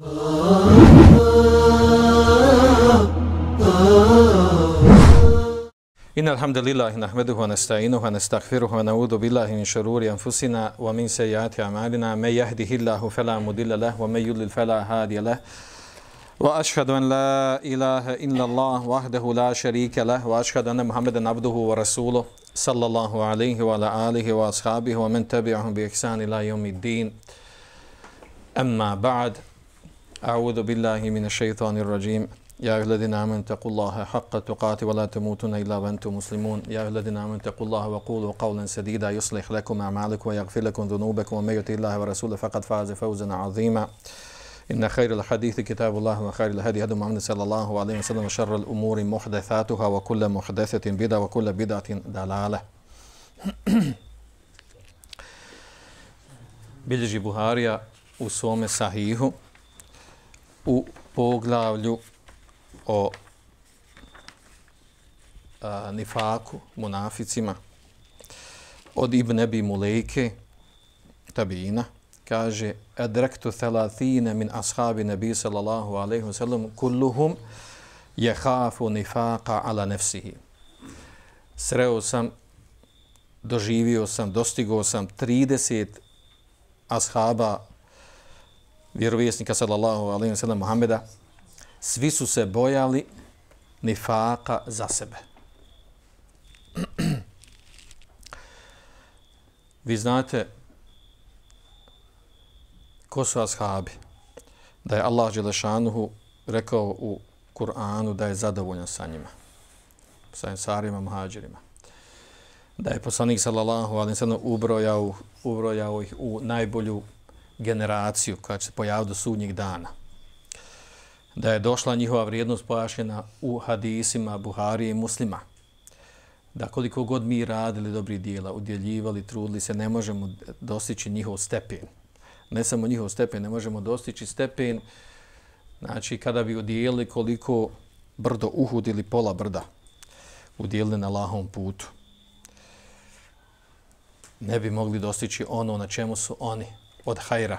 إن الحمد لله نحمده ونستعينه ونستغفره ونعوذ بالله من شرور أنفسنا ومن سيئات أعمالنا من يهده الله فلا مضل له ومن يضلل فلا هادي له وأشهد أن لا إله إلا الله وحده لا شريك له وأشهد أن محمدا عبده ورسوله صلى الله عليه وعلى آله وأصحابه ومن تبعهم بإحسان إلى يوم الدين أما بعد أعوذ بالله من الشيطان الرجيم يا أيها الذين آمنوا اتقوا الله حق تقاته ولا تموتن إلا وأنتم مسلمون يا أيها الذين آمنوا اتقوا الله وقولوا قولا سديدا يصلح لكم أعمالكم ويغفر لكم ذنوبكم ومن يطع الله ورسوله فقد فاز فوزا عظيما إن خير الحديث كتاب الله وخير الهدي هدي محمد صلى الله عليه وسلم وشر الأمور محدثاتها وكل محدثة بدعة وكل بدعة ضلالة. Bilježi Buharija u svome sahihu u poglavlju o nifaku, munaficima, od Ibn Abi Mulejke, tabina, kaže adraktu 30 min ashabi nabi sallallahu alejhi ve sellem kulluhum yakhafu nifaqa ala nafsihi. Sreo sam, doživio sam, dostigao sam 30 ashaba vjerovjesnika sallallahu alejhi ve sellem Muhameda. Svi su se bojali nifaka za sebe. Vi znate ko su ashabi? Da je Allah dželešanuhu rekao u Kur'anu da je zadovoljan sa njima, sa ensarima, muhađirima. Da je poslanik sallallahu alejhi ve sellem ubrojao ih u najbolju generaciju koja će se pojaviti do sudnjeg dana. Da je došla njihova vrijednost pojašnjena u hadisima Buharije i Muslima. Da koliko god mi radili dobri djela, udjeljivali, trudili se, ne možemo dostići njihov stepen. Ne samo njihov stepen, ne možemo dostići stepen, znači kada bi udjelili koliko brdo Uhud ili pola brda udjelili na Allahovom putu. Ne bi mogli dostići ono na čemu su oni od hajra.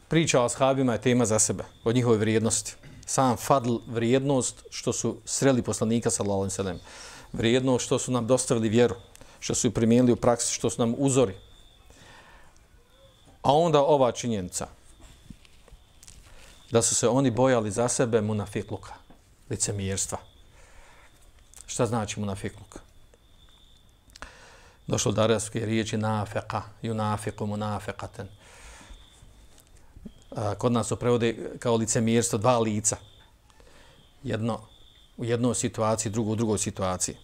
Priča o ashabima je tema za sebe, od njihove vrijednosti. Sam fadl, vrijednost što su sreli poslanika sallallahu alejhi ve sellem, vrijednost što su nam dostavili vjeru, što su ju primijenili u praksi, što su nam uzori. A onda ova činjenica da su se oni bojali za sebe munafikluka, licemjerstva. Šta znači munafikluk? Došlo do arapske riječi nafeqa, yunafiqu munafiqatan. Kod nas se prevode kao licemjerstvo, dva lica. Jedno u jednoj situaciji, drugo u drugoj situaciji.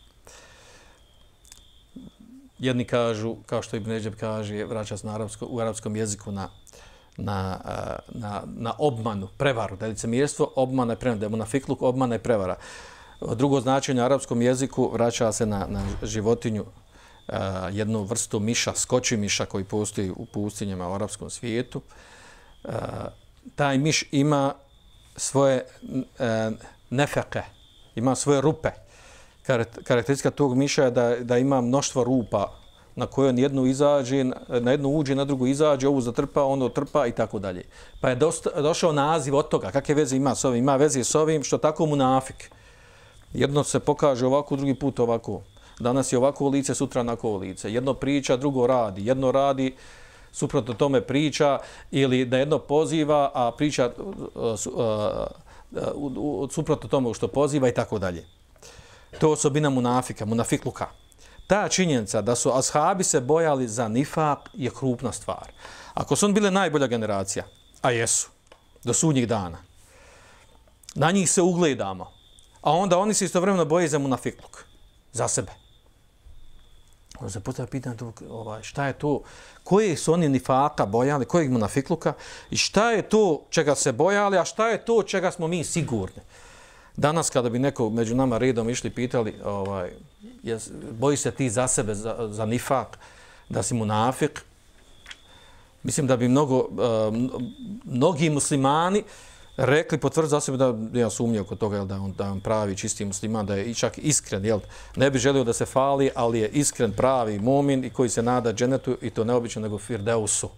Jedni kažu, kao što Ibn Ređeb kaže, vraća se u arapskom jeziku na obmanu, prevaru. Da je licemjerstvo, obmana i prevara. Da je munafikluk, obmana i prevara. Drugo značenje u arapskom jeziku vraća se na životinju, jednu vrstu miša, skočimiša koji postoji u pustinjama u arapskom svijetu. Taj miš ima svoje nefeke, ima svoje rupe. Karakteristika tog miša je da ima mnoštvo rupa na koje on jednu izađe, na jednu uđe, na drugu izađe, ovu zatrpa, ono trpa i tako dalje. Pa je došao naziv od toga. Kakve veze ima s ovim? Ima veze s ovim što tako munafik. Jedno se pokaže ovako, drugi put ovako. Danas je ovako lice, sutra onako lice. Jedno priča, drugo radi. Jedno radi, suprotno tome priča, ili da jedno poziva, a priča suprotno tome što poziva i tako dalje. To je osobina munafika, munafikluka. Ta činjenica da su ashabi se bojali za nifak je krupna stvar. Ako su oni bile najbolja generacija, a jesu, do sudnjih dana, na njih se ugledamo, a onda oni se istovremeno boje za munafikluk, za sebe. Onda se postavlja pitanje šta je to, koje su oni nifaka bojali, kojeg munafikluka i šta je to čega se bojali, a šta je to čega smo mi sigurni. Danas kada bi neko među nama redom išli pitali boji se ti za sebe, za nifak, da si munafik, mislim da bi mnogi muslimani rekli, potvrdi za sebe da ja sumnjao kod toga da on pravi čisti musliman, da je čak iskren, jel? Ne bi želio da se fali, ali je iskren pravi mumin i koji se nada dženetu i to neobično nego firdeusu.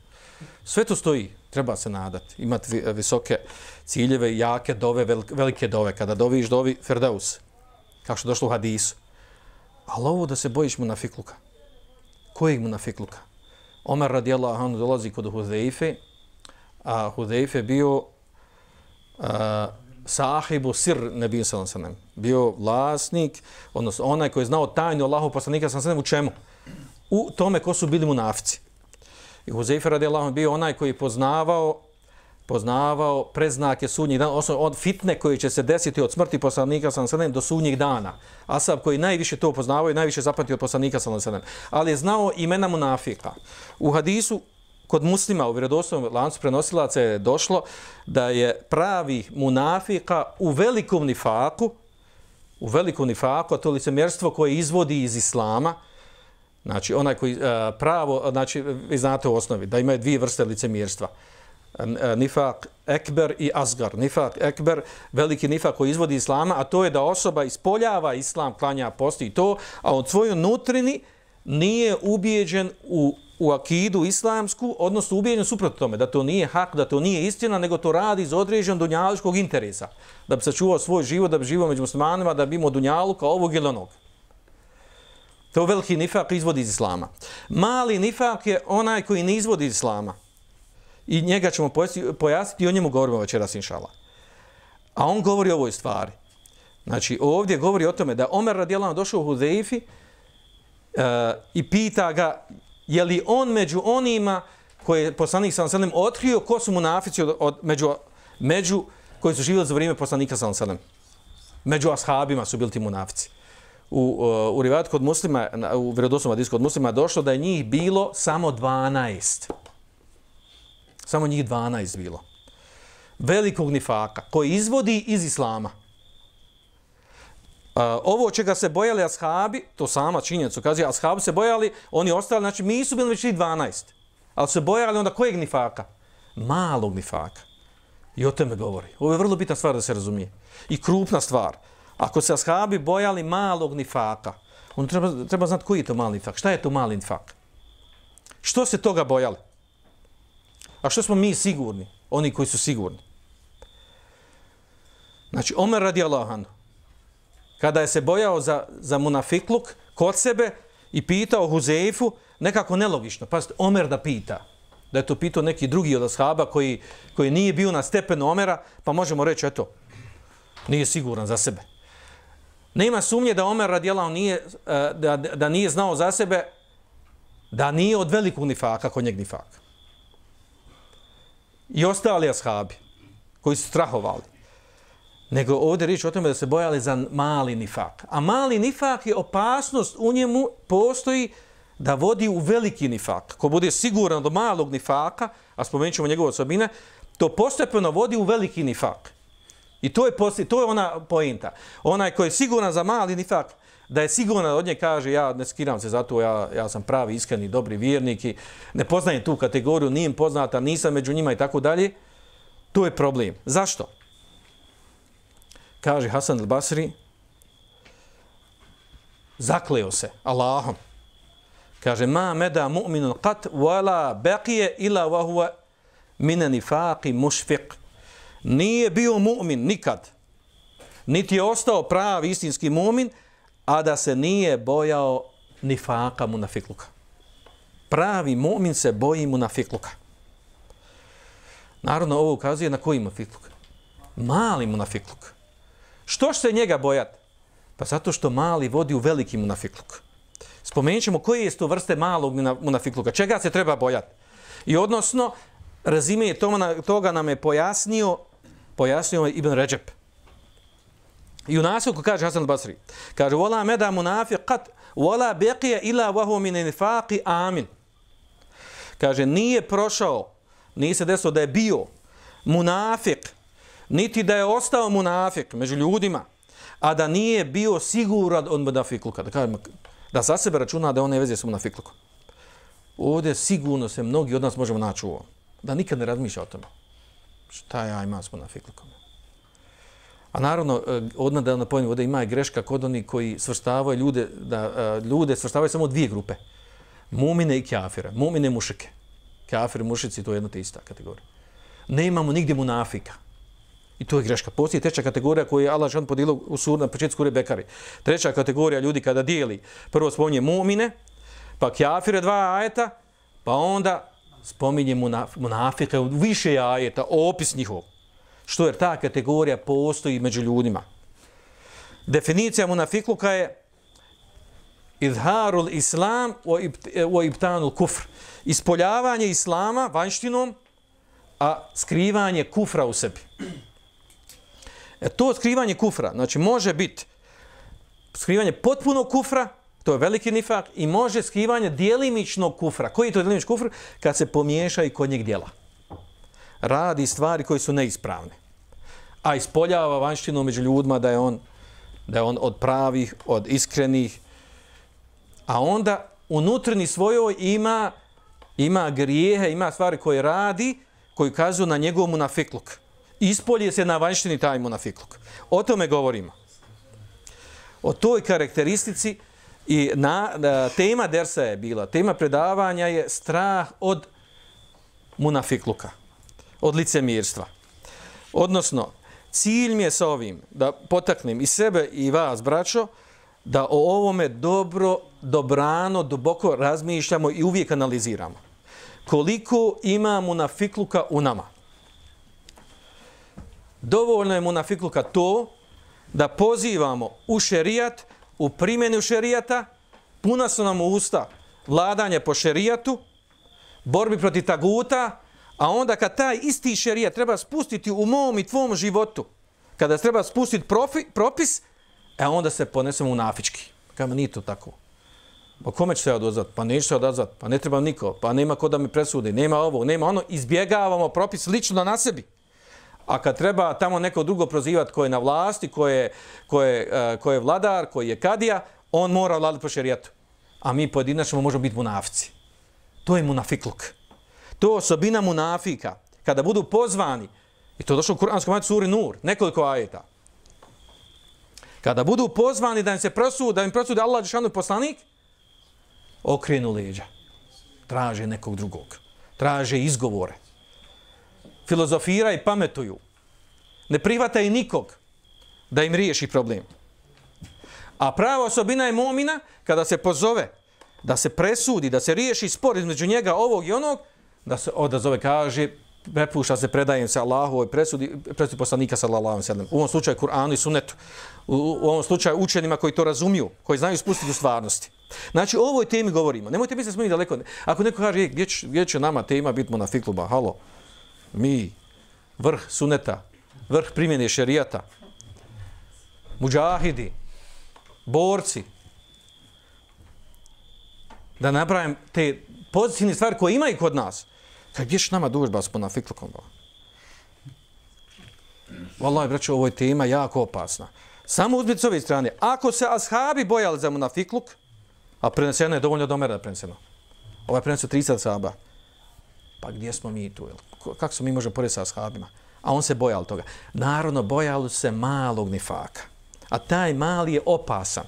Sve to stoji, treba se nadati, imati visoke ciljeve, jake dove, velike dove. Kada doviš, dovi Ferdaus, kao što je došlo u hadisu. Ali ovo da se bojiš munafikluka. Kojeg munafikluka? Omer radijallahu anhu dolazi kod Huzeife, a Huzeife bio sahibu sir nebija sallallahu alejhi ve sellem. Bio vlasnik, odnosno onaj koji je znao tajnu Allahov poslanika sallallahu alejhi ve sellem u čemu? U tome ko su bili munafici. I Huzeife radijallahu anhu bio onaj koji poznavao predznake sudnjih dana, od fitne koji će se desiti od smrti poslanika sallallahu alejhi ve sellem do sudnjih dana. Ashab koji najviše to poznavao i najviše zapamtio od poslanika sallallahu alejhi ve sellem. Ali je znao imena munafika. U hadisu kod Muslima u vjerodostojnom lancu prenosilaca je došlo da je pravi munafika u velikom nifaku, a to licemjerstvo koje izvodi iz islama. Znači, onaj koji pravo, znači, vi znate u osnovi, da imaju dvije vrste licemjerstva. Nifak ekber i asgar. Nifak ekber, veliki nifak koji izvodi islama, a to je da osoba ispoljava islam, klanja, posti i to, a od svojoj nutrini nije ubijeđen u akidu islamsku, odnosno ubijeđen suprotno tome, da to nije hak, da to nije istina, nego to radi iz određenog dunjalučkog interesa. Da bi sačuvao svoj život, da bi živio među muslimanima, da bi imao dunjaluka ovog ili onog. To veliki nifak izvodi iz islama. Mali nifak je onaj koji ne izvodi iz islama. I njega ćemo pojasniti i o njemu govorimo večeras, inšala. A on govori o ovoj stvari. Znači, ovdje govori o tome da Omer radijallahu anhu došao u Huzeifi i pita ga je li on među onima koje je poslanik sallallahu alejhi ve sellem otkrio ko su munafici među koji su živjeli za vrijeme poslanika sallallahu alejhi ve sellem. Među ashabima su bili ti munafici. U rivajatu kod Muslima, u vjerodostojnom hadisu kod Muslima došlo da je njih bilo samo 12. Samo njih 12 bilo. Velikog nifaka koji izvodi iz islama. Ovo čega se bojali ashabi, to sama činjenica ukazuje, ashabi se bojali, oni ostali, znači mi su bili već 12. Ali se bojali onda kojeg nifaka? Malog nifaka. I o tome govori. Ovo je vrlo bitna stvar da se razumije. I krupna stvar. Ako se ashabi bojali malog nifaka, on treba znati koji je to mali nifak. Šta je to mali nifak? Što se toga bojali? A što smo mi sigurni? Oni koji su sigurni. Znači, Omer radijallahu anhu, kada je se bojao za munafikluk kod sebe i pitao Huzeifu, nekako nelogično. Pazite, Omer da pita. Da je to pitao neki drugi od ashaba koji nije bio na stepenu Omera, pa možemo reći, eto, nije siguran za sebe. Nema sumnje da Omer radijallahu nije, da nije znao za sebe, da nije od velikog nifaka kod njeg nifaka. I ostali ashabi koji su strahovali. Nego ovdje riječ o tome da se bojali za mali nifak. A mali nifak je opasnost u njemu postoji da vodi u veliki nifak. Ko bude siguran do malog nifaka, a spomenut ćemo njegove osobine, to postepeno vodi u veliki nifak. I to je ona poenta. Onaj koji je siguran za mali nifak, da je siguran od nje kaže ja ne skiram se zato, ja sam pravi, iskreni, dobri vjernik i ne poznajem tu kategoriju, nije im poznata, nisam među njima i tako dalje. To je problem. Zašto? Kaže Hasan al-Basri, zakleo se Allahom. Kaže, ma meda mu'minun qat wala baqije ila wa huwa mina nifaqi mušfiq. Nije bio mu'min nikad, niti je ostao pravi istinski mu'min, a da se nije bojao nifaka munafikluka. Pravi mu'min se boji munafikluka. Naravno, ovo ukazuje na koji munafikluk? Mali munafikluk. Što se njega bojati? Pa zato što mali vodi u veliki munafikluk. Spomenut ćemo koje je to vrste malog munafikluka. Čega se treba bojati? I odnosno, razime toga nam je pojasnio Ibn Ređep. I u nastavku kaže Hasan al-Basri, kaže, vola meda munafiqat, vola beqije ila vahu min nifaqi amin. Kaže, nije prošao, nije se desilo da je bio munafik, niti da je ostao munafik među ljudima, a da nije bio siguran od munafikluka. Da za sebe računa da on ne veze sa munafiklukom. Ovdje sigurno se mnogi od nas možemo naći u ovom. Da nikad ne razmišlja o tome. Šta ja imam s munafiklukom? A naravno, odmah da napomenem, ovdje ima i greška kod onih koji svrstavaju ljude svrstavaju samo dvije grupe. Mumine i kafire. Mumine i mušike. Kafir, mušici, to je jedna te ista kategorija. Nemamo nigdje munafika. I to je greška. Postoji treća kategorija koju je Allah dželle podijelio u na početku sure Bekare. Treća kategorija ljudi kada dijeli, prvo spominje mu'mine, pa kafire 2 ajeta, pa onda spominje munafike u više ajeta, opis njihov. Što jer ta kategorija postoji među ljudima. Definicija munafikluka je izharul islam wa ibtanul kufr. Ispoljavanje islama vanjštinom, a skrivanje kufra u sebi. To skrivanje kufra, znači može biti skrivanje potpunog kufra, to je veliki nifak, i može skrivanje djelimičnog kufra. Koji je to djelimični kufr? Kad se pomiješa i kod njeg djela. Radi stvari koje su neispravne. A ispoljava vanjštinu među ljudima da je on od pravih, od iskrenih, a onda unutrni svojoj ima grijehe, ima stvari koje radi, koji kazuju na njegov munafikluk. Ispolje se na vanjštini taj munafikluk. O tome govorimo. O toj karakteristici i tema dersa je bila, tema predavanja je strah od munafikluka, od licemirstva. Odnosno, cilj mi je sa ovim da potaknem i sebe i vas, braćo, da o ovome dobrano, duboko razmišljamo i uvijek analiziramo. Koliko ima munafikluka u nama? Dovoljno je munafikluka to da pozivamo u šerijat, u primjenu šerijata, puna su nam usta vladanje po šerijatu, borbi protiv taguta, a onda kad taj isti šerijat treba spustiti u mom i tvom životu, kada treba spustiti propis, onda se ponesemo munafički. Kada nije to tako. Pa kome će se odazvat? Pa neće se odazvat. Pa ne treba niko. Pa nema ko da mi presudi. Nema ovo, nema ono. Izbjegavamo propis lično na sebi. A kad treba tamo neko drugo prozivati ko je na vlasti, ko je vladar, koji je kadija, on mora vladati po šerijatu. A mi pojedinačno možemo biti munafici. To je munafikluk. To je osobina munafika. Kada budu pozvani, i to došlo u Kur'anskom ajetu suri Nur, nekoliko ajeta. Kada budu pozvani da im se prosudi Allah dželešanu poslanik, okrenu leđa. Traže nekog drugog. Traže izgovore. Filozofira i pametuju. Ne prihvataju nikog da im riješi problem. A prava osobina je mu'mina kada se pozove da se presudi, da se riješi spor između njega ovog i onog, da se odazove, kaže, prepušta se, predajem se Allahovoj presudi poslanika sallallahu alejhi ve sellem. U ovom slučaju Kur'anu i Sunnetu. U ovom slučaju učenima koji to razumiju, koji znaju spustiti u stvarnosti. Znači, o ovoj temi govorimo. Nemojte misliti da smo mi daleko. Ako neko kaže, gdje će nama tema biti munafikluba? Halo, mi, vrh Sunneta, vrh primjene šerijata, muđahidi, borci, da napravim te pozitivne stvari koje ima i kod nas. Gdje će nama dužba s munafiklukom? Wallahi, braćo, ovo je tema jako opasna. Samo uzmite s ove strane. Ako se ashabi bojali za munafikluk, a preneseno je dovoljno od Omera da preneseno. Ovo je preneseno 30 ashaba. Pa gdje smo mi tu? Kako se mi možemo porediti sa ashabima? A on se bojao toga. Naravno, bojalo se malog nifaka. A taj mali je opasan.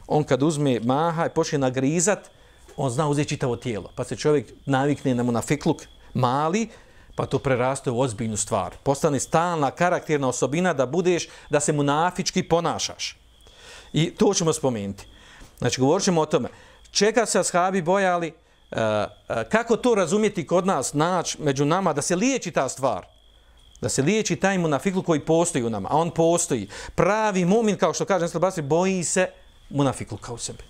On kad uzme maha i počne nagrizat, on zna uzeti čitavo tijelo. Pa se čovjek navikne na munafikluk mali, pa to preraste u ozbiljnu stvar. Postane stalna karakterna osobina da se munafički ponašaš. I to ćemo spomenuti. Znači, govorit ćemo o tome. Čega se ashabi bojali, kako to razumjeti kod nas, naći među nama, da se liječi ta stvar. Da se liječi taj munafikluk koji postoji u nama. A on postoji. Pravi mu'min, kao što kaže Nestor Basri, boji se munafikluka u sebi.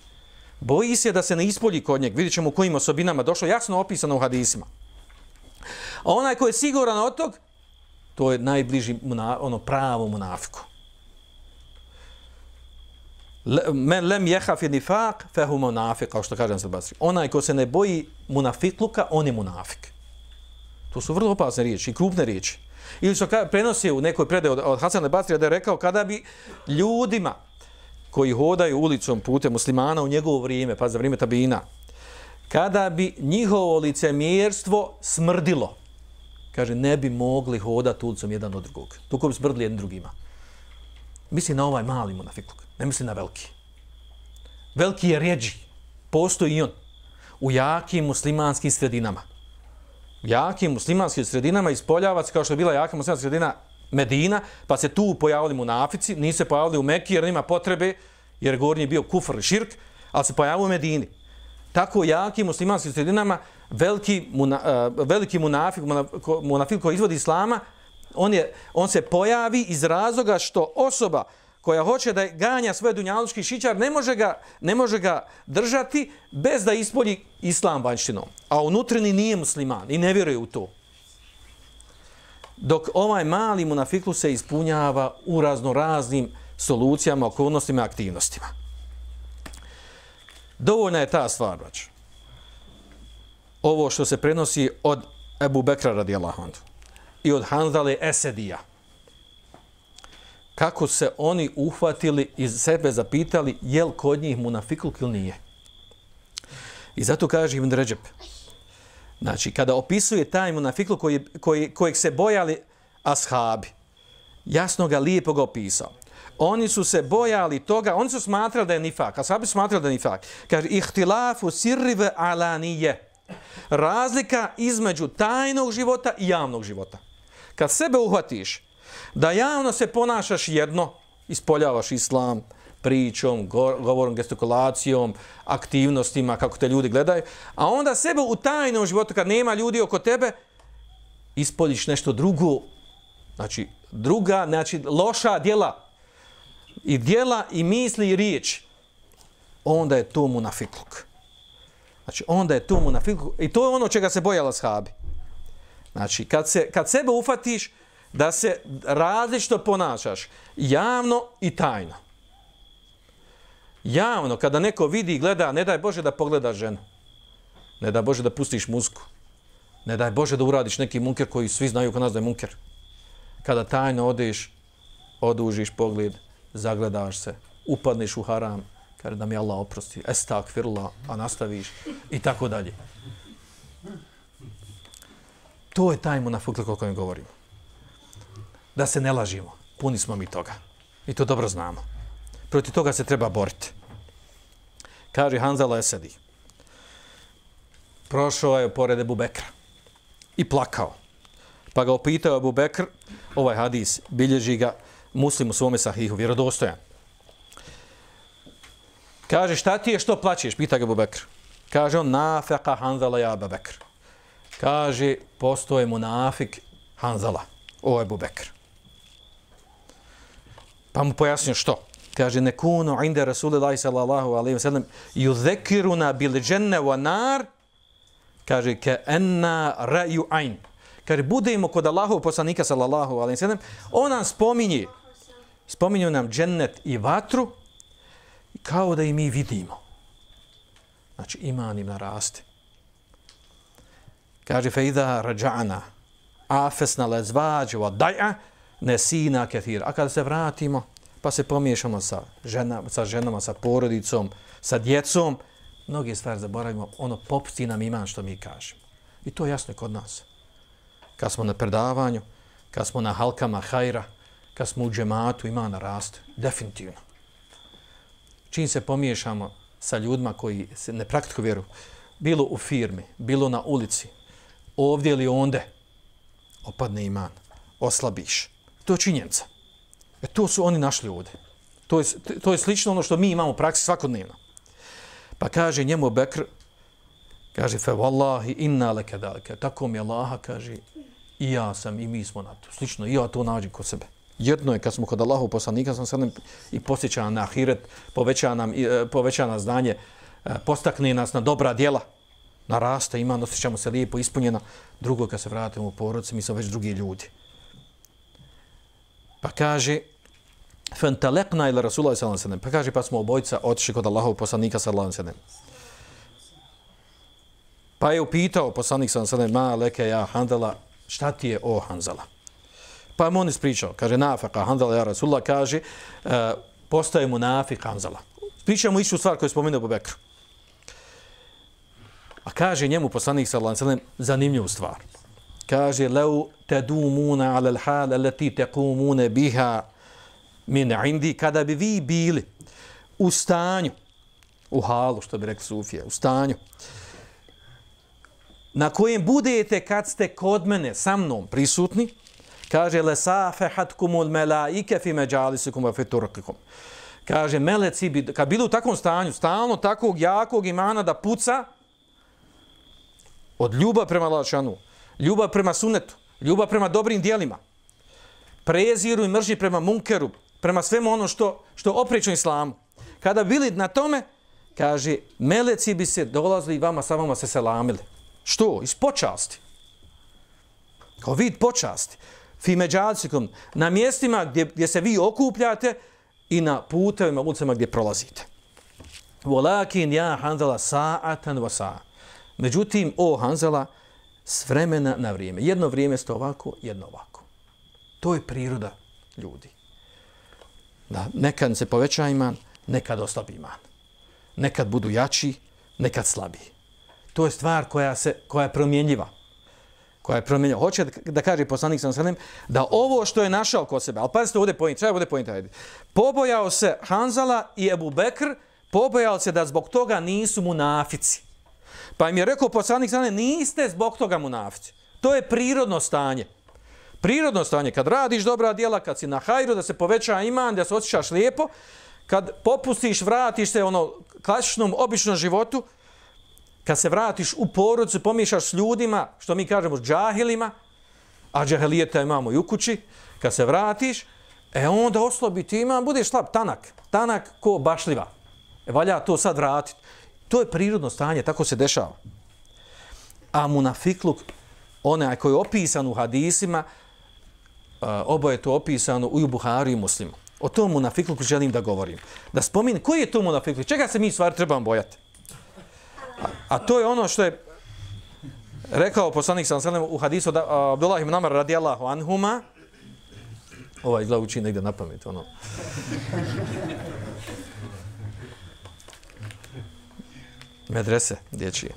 Boji se da se ne ispolji kod njeg. Vidjet ćemo u kojim osobinama došlo, jasno opisano u hadisima. A onaj koji je siguran od tog, to je najbliži pravo munafiku. Men lem jehafi nifak, fehu munafik, kao što kaže Nestor Basri. Onaj ko se ne boji munafikluka, on je munafik. To su vrlo opasne riječi i krupne riječi. Ili što prenosi u nekoj predaji od Hasan al-Basrija da je rekao kada bi ljudima koji hodaju ulicom putem muslimana u njegovo vrijeme, pa za vrijeme tabina, kada bi njihovo licemjerstvo smrdilo, kaže, ne bi mogli hodati ulicom jedan od drugog. Tuko bi smrdili jednim drugima. Misli na ovaj mali munafikluk, ne misli na veliki. Veliki je rjeđi, postoji i on, u jakim muslimanskim sredinama. jakim muslimanskim sredinama ispoljava se kao što je bila jaka muslimanska sredina Medina, pa se tu pojavili munafici, nisu se pojavili u Mekki jer nema potrebe, jer gornji je bio kufr i širk, ali se pojavili u Medini. Tako jakim muslimanskim sredinama veliki munafik koji izvodi islama, on se pojavi iz razloga što osoba koja hoće da ganja svoje dunjalučki šićar ne može ga držati bez da ispolji islam vanjštinom. A unutrini nije musliman i ne vjeruje u to. Dok ovaj mali munafiklu se ispunjava u raznoraznim solucijama, okolnostima i aktivnostima. Dovoljna je ta stvar, brać. Ovo što se prenosi od Ebu Bekra radijallahu anhu i od Hanzale Esedija. Kako se oni uhvatili i sebe zapitali je li kod njih munafikluk ili nije. I zato kaže Ibn Redžep, znači kada opisuje taj munafikluk kojeg se bojali ashabi, jasno ga lijepo ga opisao. Oni su se bojali toga, oni su smatrali da je nifak, ashabi su smatrali da je nifak. Kaže, ihtilafu sirri ve alanije. Razlika između tajnog života i javnog života. Kad sebe uhvatiš da javno se ponašaš jedno, ispoljavaš islam, pričom, govorom, gestikulacijom, aktivnostima, kako te ljudi gledaju, a onda sebe u tajnom životu, kad nema ljudi oko tebe, ispoljiš nešto drugo, znači loša djela, i djela, i misli, i riječ, onda je to munafikluk. Znači, onda je to munafikluk, i to je ono čega se bojala ashabi. Znači, kad sebe ufatiš da se različito ponašaš, javno i tajno. Javno, kada neko vidi i gleda, ne daj Bože da pogledaš ženu. Ne daj Bože da pustiš muziku. Ne daj Bože da uradiš neki munker koji svi znaju kod nas da je munker. Kada tajno odeš, odužiš pogled, zagledaš se, upadneš u haram, kaže da mi Allah oprosti, estakfirullah, a nastaviš i tako dalje. To je taj munafikluk o kojem govorimo. Da se ne lažimo, puni smo mi toga. I to dobro znamo. Protiv toga se treba boriti. Kaže Hanzala Esedi. Prošao je pored Ebu Bekra i plakao. Pa ga opitao Ebu Bekr, ovaj hadis, bilježi ga Muslim u svome sahihu, vjerodostojan. Kaže, šta ti je, što plaćeš? Pita ga Ebu Bekr. Kaže on, nafeka Hanzala ja Ebu Bekr. Kaže, postoje munafik Hanzala, o Ebu Bekr. Pa mu pojasnio što. Kaže, nekunu inde Rasulillahi sallallahu alaihi wa sallam yudhekiruna bil dženne wa nar, kaže, ke enna ra'ju ajn. Kaže, budemo kod Allahov poslanika sallallahu alaihi wa sallam, on nam spominju nam džennet i vatru, kao da i mi vidimo. Znači, iman im naraste. Kaže, fe idha raja'na afesna lezvađu wa daj'a nesina kathir. A kada se vratimo, pa se pomiješamo sa ženama, sa porodicom, sa djecom, mnoge stvari zaboravimo, ono popusti nam iman što mi kažemo. I to je jasno kod nas. Kad smo na predavanju, kad smo na halkama hajra, kad smo u džematu, iman naraste. Definitivno. Čim se pomiješamo sa ljudima koji se ne praktikuju vjeru, bilo u firmi, bilo na ulici, ovdje ili onde, opadne iman, oslabiš. To je činjenica. To su oni našli ovdje. To je slično ono što mi imamo u praksi svakodnevno. Pa kaže njemu Bekr, kaže, fe wallahi inna leke dalike. Tako mi Allaha, kaže, i ja sam, i mi smo na to. Slično, i ja to nađem kod sebe. Jedno je kad smo kod Allahu poslanika, sam sad i posjeća na ahiret, poveća nas znanje, postakne nas na dobra djela, naraste, iman, osjećamo se lijepo, ispunjeno. Drugo, kad se vratimo u porodice, mi smo već drugi ljudi. Pa kaže, fentalekna ila Rasulullah sallallahu alejhi ve sellem. Pa kaže, pa smo obojica otišli kod Allahovog poslanika sallallahu alejhi ve sellem. Pa je upitao poslanik sallallahu alejhi ve sellem, ma leke ja Hanzala, šta ti je o Hanzala? Pa mu on ispričao, kaže, nafaka Hanzala ja Rasulullah, kaže, postaje munafik Hanzala. Pričamo istu stvar koju je spomenuo Abu Bekr. A kaže njemu poslanik sallallahu alejhi ve sellem zanimljivu stvar. Kaže, leu tedumuna ala l'hal alati tequmune biha min indi, kada bi vi bili u stanju, u halu, što bi rekli Sufije, u stanju, na kojem budete kad ste kod mene sa mnom prisutni, kaže lesafahatkumul melaike fi majalisikum wa fi turqikum. Kaže meleci bi kad bili u takvom stanju, stalno takvog jakog imana da puca od ljubav prema Allahšanu, ljubav prema sunnetu, ljubav prema dobrim djelima, preziru i mržnji prema munkeru, prema svemu ono što oprečno islamu. Kada bili na tome, kaže, meleci bi se dolazili i sa vama se selamili. Što? Iz počasti. Kao vid počasti. Fi međalicikum, na mjestima gdje se vi okupljate i na putevima, ulicama gdje prolazite. Walakin ja Hanzala sa'atan wa sa'a. Međutim, o Hanzala, s vremena na vrijeme. Jedno vrijeme ste ovako, jedno ovako. To je priroda ljudi. Da, nekad se poveća iman, nekad oslabi iman. Nekad budu jači, nekad slabiji. To je stvar koja je promjenjiva. Koja je promjenjiva. Hoće da kaže poslanik sallallahu alejhi ve sellem da ovo što je našao kod sebe, ali pazite ovdje point, treba ovdje point. Pobojao se Hanzala i Ebu Bekr, pobojao se da zbog toga nisu munafici. Pa im je rekao poslanik sallallahu alejhi ve sellem, niste zbog toga munafici. To je prirodno stanje. Prirodno stanje, kad radiš dobra djela, kad si na hajru, da se poveća iman, da se osjećaš lijepo, kad popustiš, vratiš se klasičnom, običnom životu, kad se vratiš u porodicu, pomiješaš s ljudima, što mi kažemo s džahilima, a džahilijeta imamo i u kući, kad se vratiš, onda oslobi ti iman, budeš slab, tanak ko bašljiva. Valja to sad vratiti. To je prirodno stanje, tako se dešava. A munafikluk, onaj koji je opisan u hadisima, oboje je to opisano u Buhari i Muslimu. O tom munafikluku želim da govorim. Da spominjem, koji je to munafikluk? Čega se mi stvari trebamo bojati? A to je ono što je rekao poslanik sallallahu alejhi ve sellem u hadisu Abdullah ibn Amr radijallahu anhuma. Izgleda uči negdje na pamet. Medrese dječje.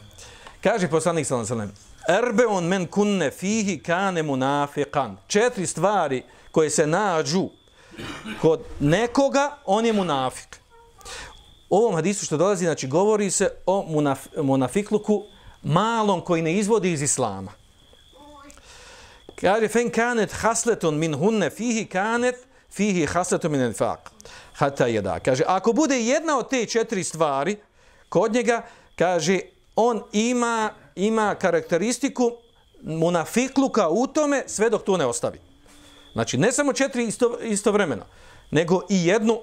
Kaže poslanik sallallahu alejhi ve sellem: Erbeun men kunne fihi kane munafiqan. 4 stvari koje se nađu kod nekoga, on je munafik. U ovom hadisu što dolazi, znači govori se o munafikluku malom koji ne izvodi iz islama. Kaže, fen kanet hasletun min hunne fihi kanet fihi hasletun min nifaq. Hata jeda. Kaže, ako bude jedna od te 4 stvari kod njega, kaže, on ima karakteristiku munafikluka u tome sve dok to ne ostavi. Znači, ne samo 4 istovremeno, nego i jednu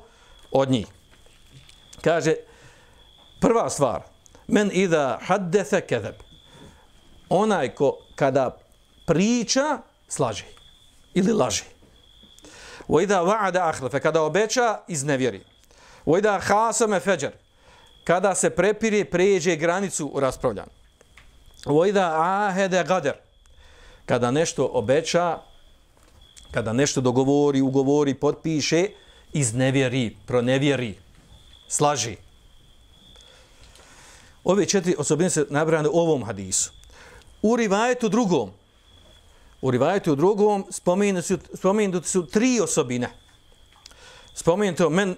od njih. Kaže, prva stvar, men idha haddethe kedeb. Onaj ko kada priča, slaže ili laže. Wa idha wa'ada akhlefe, kada obeća, iznevjeri. Wa idha khasame feđer, kada se prepire, pređe granicu u raspravljanju. Wa idha ahede gader, kada nešto obeća, kada nešto dogovori, ugovori, potpiše, iznevjeri, pronevjeri, slaži. Ove 4 osobine se nabrane u ovom hadisu. U rivajetu drugom spomenuti su 3 osobine. Spomenuto men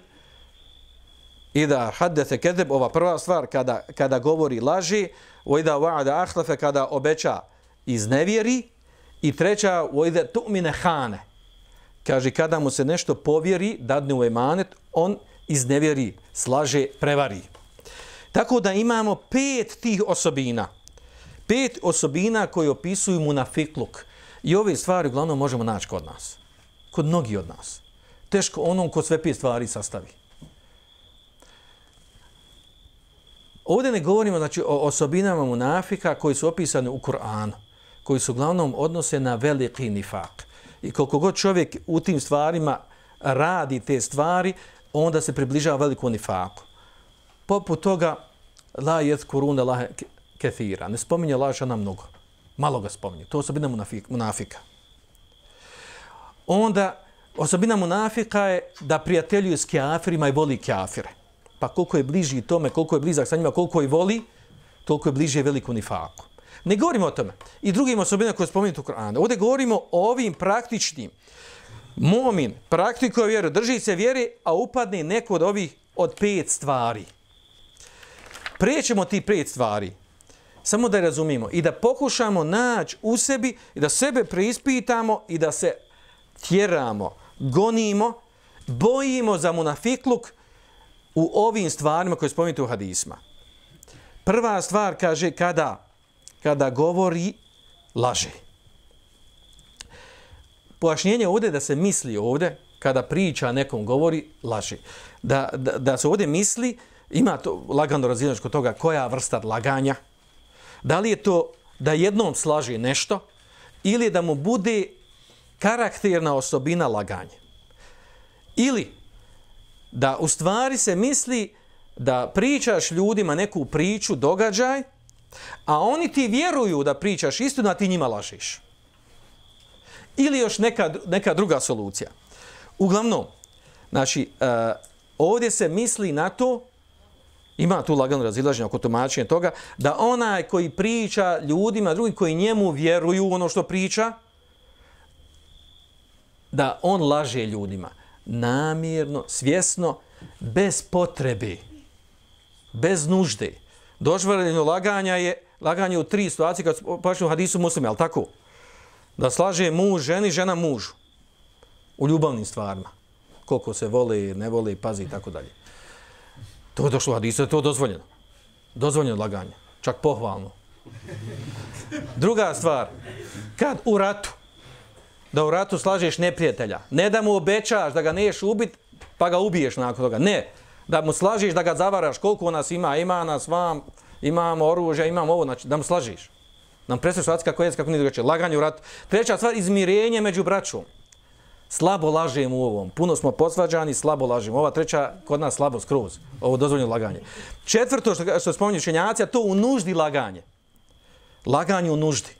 ida haddete kedeb, ova prva stvar, kada govori laži, o ida wa'ada akhlefe, kada obeća iznevjeri, i treća, o ida tu'mine hane. Kaže, kada mu se nešto povjeri, dadne u emanet, on iznevjeri, slaže, prevari. Tako da imamo 5 tih osobina. 5 osobina koje opisuju munafikluk. I ove stvari uglavnom možemo naći kod nas. Kod mnogi od nas. Teško onom ko sve 5 stvari sastavi. Ovdje ne govorimo znači, o osobinama munafika koji su opisani u Kur'anu, koji su uglavnom odnose na veliki nifak. I koliko god čovjek u tim stvarima radi te stvari, onda se približava veliku nifaku. Poput toga, la yezkuruna Allaha kathira. Ne spominje Allaha mnogo. Malo ga spominje. To je osobina munafika. Onda, osobina munafika je da prijateljuje s kafirima i voli kafire. Pa koliko je bliži tome, koliko je blizak sa njima, koliko je voli, toliko je bliže veliku nifaku. Ne govorimo o tome. I drugim osobinama koje spomenuti u Kur'anu. Ovdje govorimo o ovim praktičnim. Mu'min praktikuje vjeru, drži se vjere, a upadne neko od 5 stvari. Prijećemo ti 5 stvari. Samo da razumijemo i da pokušamo naći u sebi i da sebe preispitamo i da se tjeramo, gonimo, bojimo za munafikluk u ovim stvarima koje spominjete u hadisma. Prva stvar kaže kada govori laže. Pojašnjenje ovdje da se misli ovdje kada priča nekom govori laže. Da se ovdje misli, ima to lagano razilaženje kod toga koja vrsta laganja. Da li je to da jednom slaže nešto ili da mu bude karakterna osobina laganje. Ili da u stvari se misli da pričaš ljudima neku priču, događaj, a oni ti vjeruju da pričaš istinu, a ti njima lažeš. Ili još neka druga solucija. Uglavnom, znači, ovdje se misli na to, ima tu lagano razilaženje oko tumačenja toga, da onaj koji priča ljudima, drugi koji njemu vjeruju ono što priča, da on laže ljudima. Namjerno, svjesno, bez potrebe, bez nužde. Dozvoljeno laganje u 3 situacije kad počne u hadisu Muslima, ali tako? Da slaže muž ženi, žena mužu. U ljubavnim stvarima. Koliko se voli, ne voli, pazi i tako dalje. To je došlo u hadisu, to je dozvoljeno. Dozvoljeno laganje. Čak pohvalno. Druga stvar, kad u ratu, da u ratu slažeš neprijatelja, ne da mu obećaš da ga neš ubit, pa ga ubiješ nakon toga. Ne, da mu slažeš da ga zavaraš, koliko nas ima nas vam, imamo oružje, imamo ovo, znači da mu slažeš. Nam predstaviš situacija kako je, kako nije drugačije. Laganje u ratu. Treća stvar, izmirenje među braćom. Slabo lažemo u ovom. Puno smo posvađani, slabo lažemo. Ova treća, kod nas slabo skroz. Ovo dozvoljeno laganje. Četvrto, što spominju učenjaci, to u nuždi laganje. Laganje u nuždi.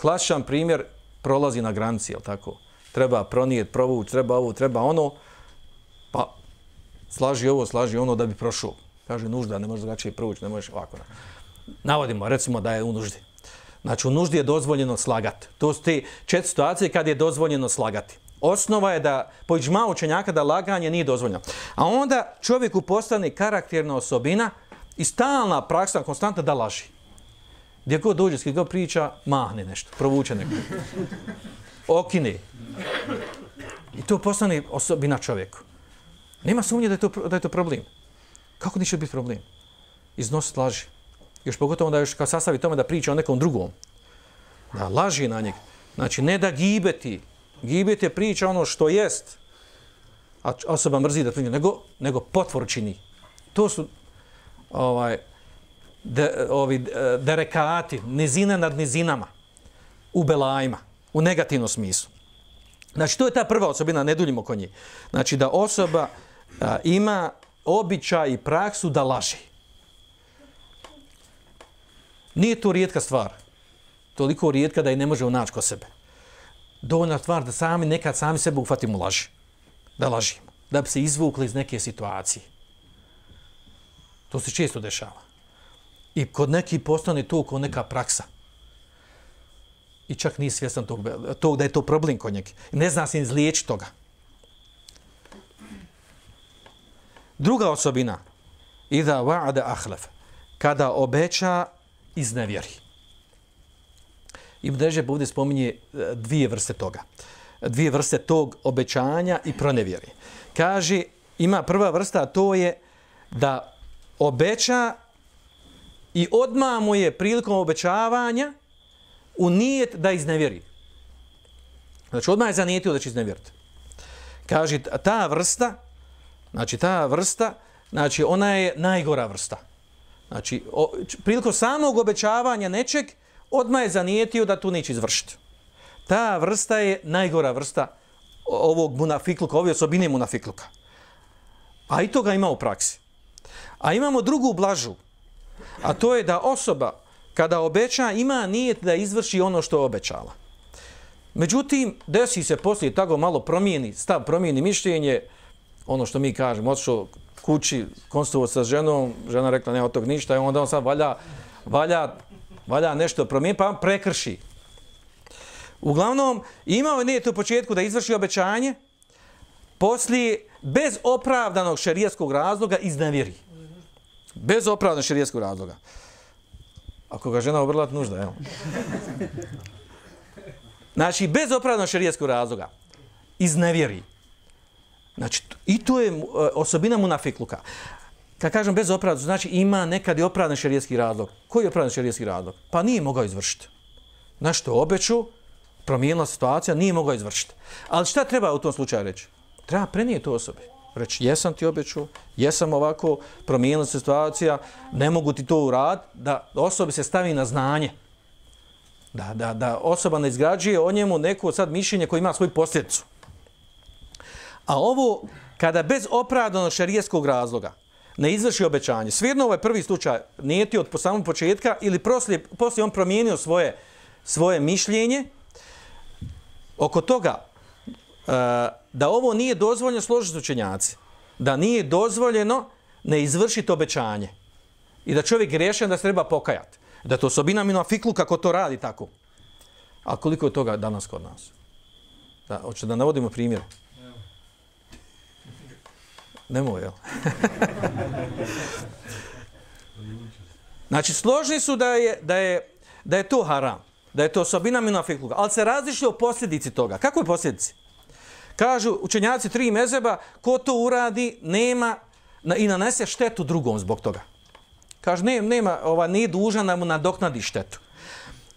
Klasičan primjer, prolazi na granici, jel tako? Treba pronijeti, provući, treba ovo, treba ono. Pa slaži ovo, slaži ono da bi prošao. Kaže nužda, ne možeš drugačije provući, ne možeš ovako. Navodimo, recimo da je u nuždi. Znači, u nuždi je dozvoljeno slagati. To su te 4 situacije kad je dozvoljeno slagati. Osnova je da, po iđma učenjaka, da laganje nije dozvoljeno. A onda čovjeku postane karakterna osobina i stalna praksa, konstantna da laži. Gdje god dođe, s god priča, mahne nešto, provuče neko. Okine. I to postane osobina čovjeku. Nema sumnje da je to problem. Kako neće biti problem? Iznositi laži. Još pogotovo da još kao sastavi tome da priča o nekom drugom. Da laži na njeg. Znači, ne da gibeti. Gibet je priča ono što jest, a osoba mrzi da priča, nego potvor čini. To su derekati, nizine nad nizinama, u belajima, u negativnom smislu. Znači, to je ta prva osobina, ne duljimo oko nje. Znači, da osoba ima običaj i praksu da laži. Nije to rijetka stvar. Toliko rijetka da je ne možemo naći kod sebe. Dovoljna stvar da nekad sami sebe uhvatimo laži. Da lažimo. Da bi se izvukli iz neke situacije. To se često dešava. I kod neki postane to kao neka praksa. I čak nije svjestan tog da je to problem kod njega. Ne zna se izliječiti toga. Druga osobina. Iza wa'ada ahlaf. Kada obeća, iznevjeri. Ibn Ređeb ovdje spominje 2 vrste toga. 2 vrste tog obećanja i pronevjeri. Kaže, ima prva vrsta, a to je da obeća i odmah mu je prilikom obećavanja u nijet da iznevjeri. Znači, odmah je zanijetio da će iznevjeriti. Kaže, ta vrsta, ona je najgora vrsta. Znači, prilikom samog obećavanja nečeg, odmah je zanijetio da tu neće izvršiti. Ta vrsta je najgora vrsta ovog munafikluka, ove osobine munafikluka. A i toga ima u praksi. A imamo drugu blažu, a to je da osoba kada obeća ima nijet da izvrši ono što je obećala. Međutim, desi se poslije tako malo promijeni stav, promijeni mišljenje, ono što mi kažemo, otišao kući, konsultovao sa ženom, žena rekla ne od tog ništa i onda on sad valja nešto promijeniti, pa prekrši. Uglavnom, imao je nijet u početku da izvrši obećanje, poslije, bez opravdanog šerijatskog razloga, iznevjeri. Bez opravdanog šerijatskog razloga. Ako ga žena obrla, nužda, evo. Znači, bez opravdanog šerijskog razloga, iznevjeri. Znači, i to je osobina munafikluka. Kad kažem bez opravdanog, znači ima nekad i opravdan šerijski razlog. Koji je opravdan šerijski razlog? Pa nije mogao izvršiti. Nešto obeću, promijenila situacija, nije mogao izvršiti. Ali šta treba u tom slučaju reći? Treba prenijeti to osobi. Reći, jesam ti obećao, jesam ovako, promijenila se situacija, ne mogu ti to uraditi, da osobi se stavi na znanje. Da osoba ne izgrađuje o njemu neko sad mišljenje koje ima svoju posljedicu. A ovo, kada bez opravdanog šerijskog razloga ne izvrši obećanje, svirno ovaj prvi slučaj nijeti od samog početka ili poslije on promijenio svoje mišljenje, oko toga da ovo nije dozvoljeno složiti učenjaci, da nije dozvoljeno ne izvršiti obećanje i da čovjek grešan da se treba pokajati, da to osobina munafikluka kako to radi tako. A koliko je toga danas kod nas? Hoće da navodimo primjer? Nemoj, jel? Znači, složni su da je to haram, da je to osobina munafikluka, ali se različite o posljedici toga. Kako je posljedici? Kažu učenjaci 3 mezheba, ko to uradi, nema i nanese štetu drugom zbog toga. Kažu, nije dužan da mu nadoknadi štetu.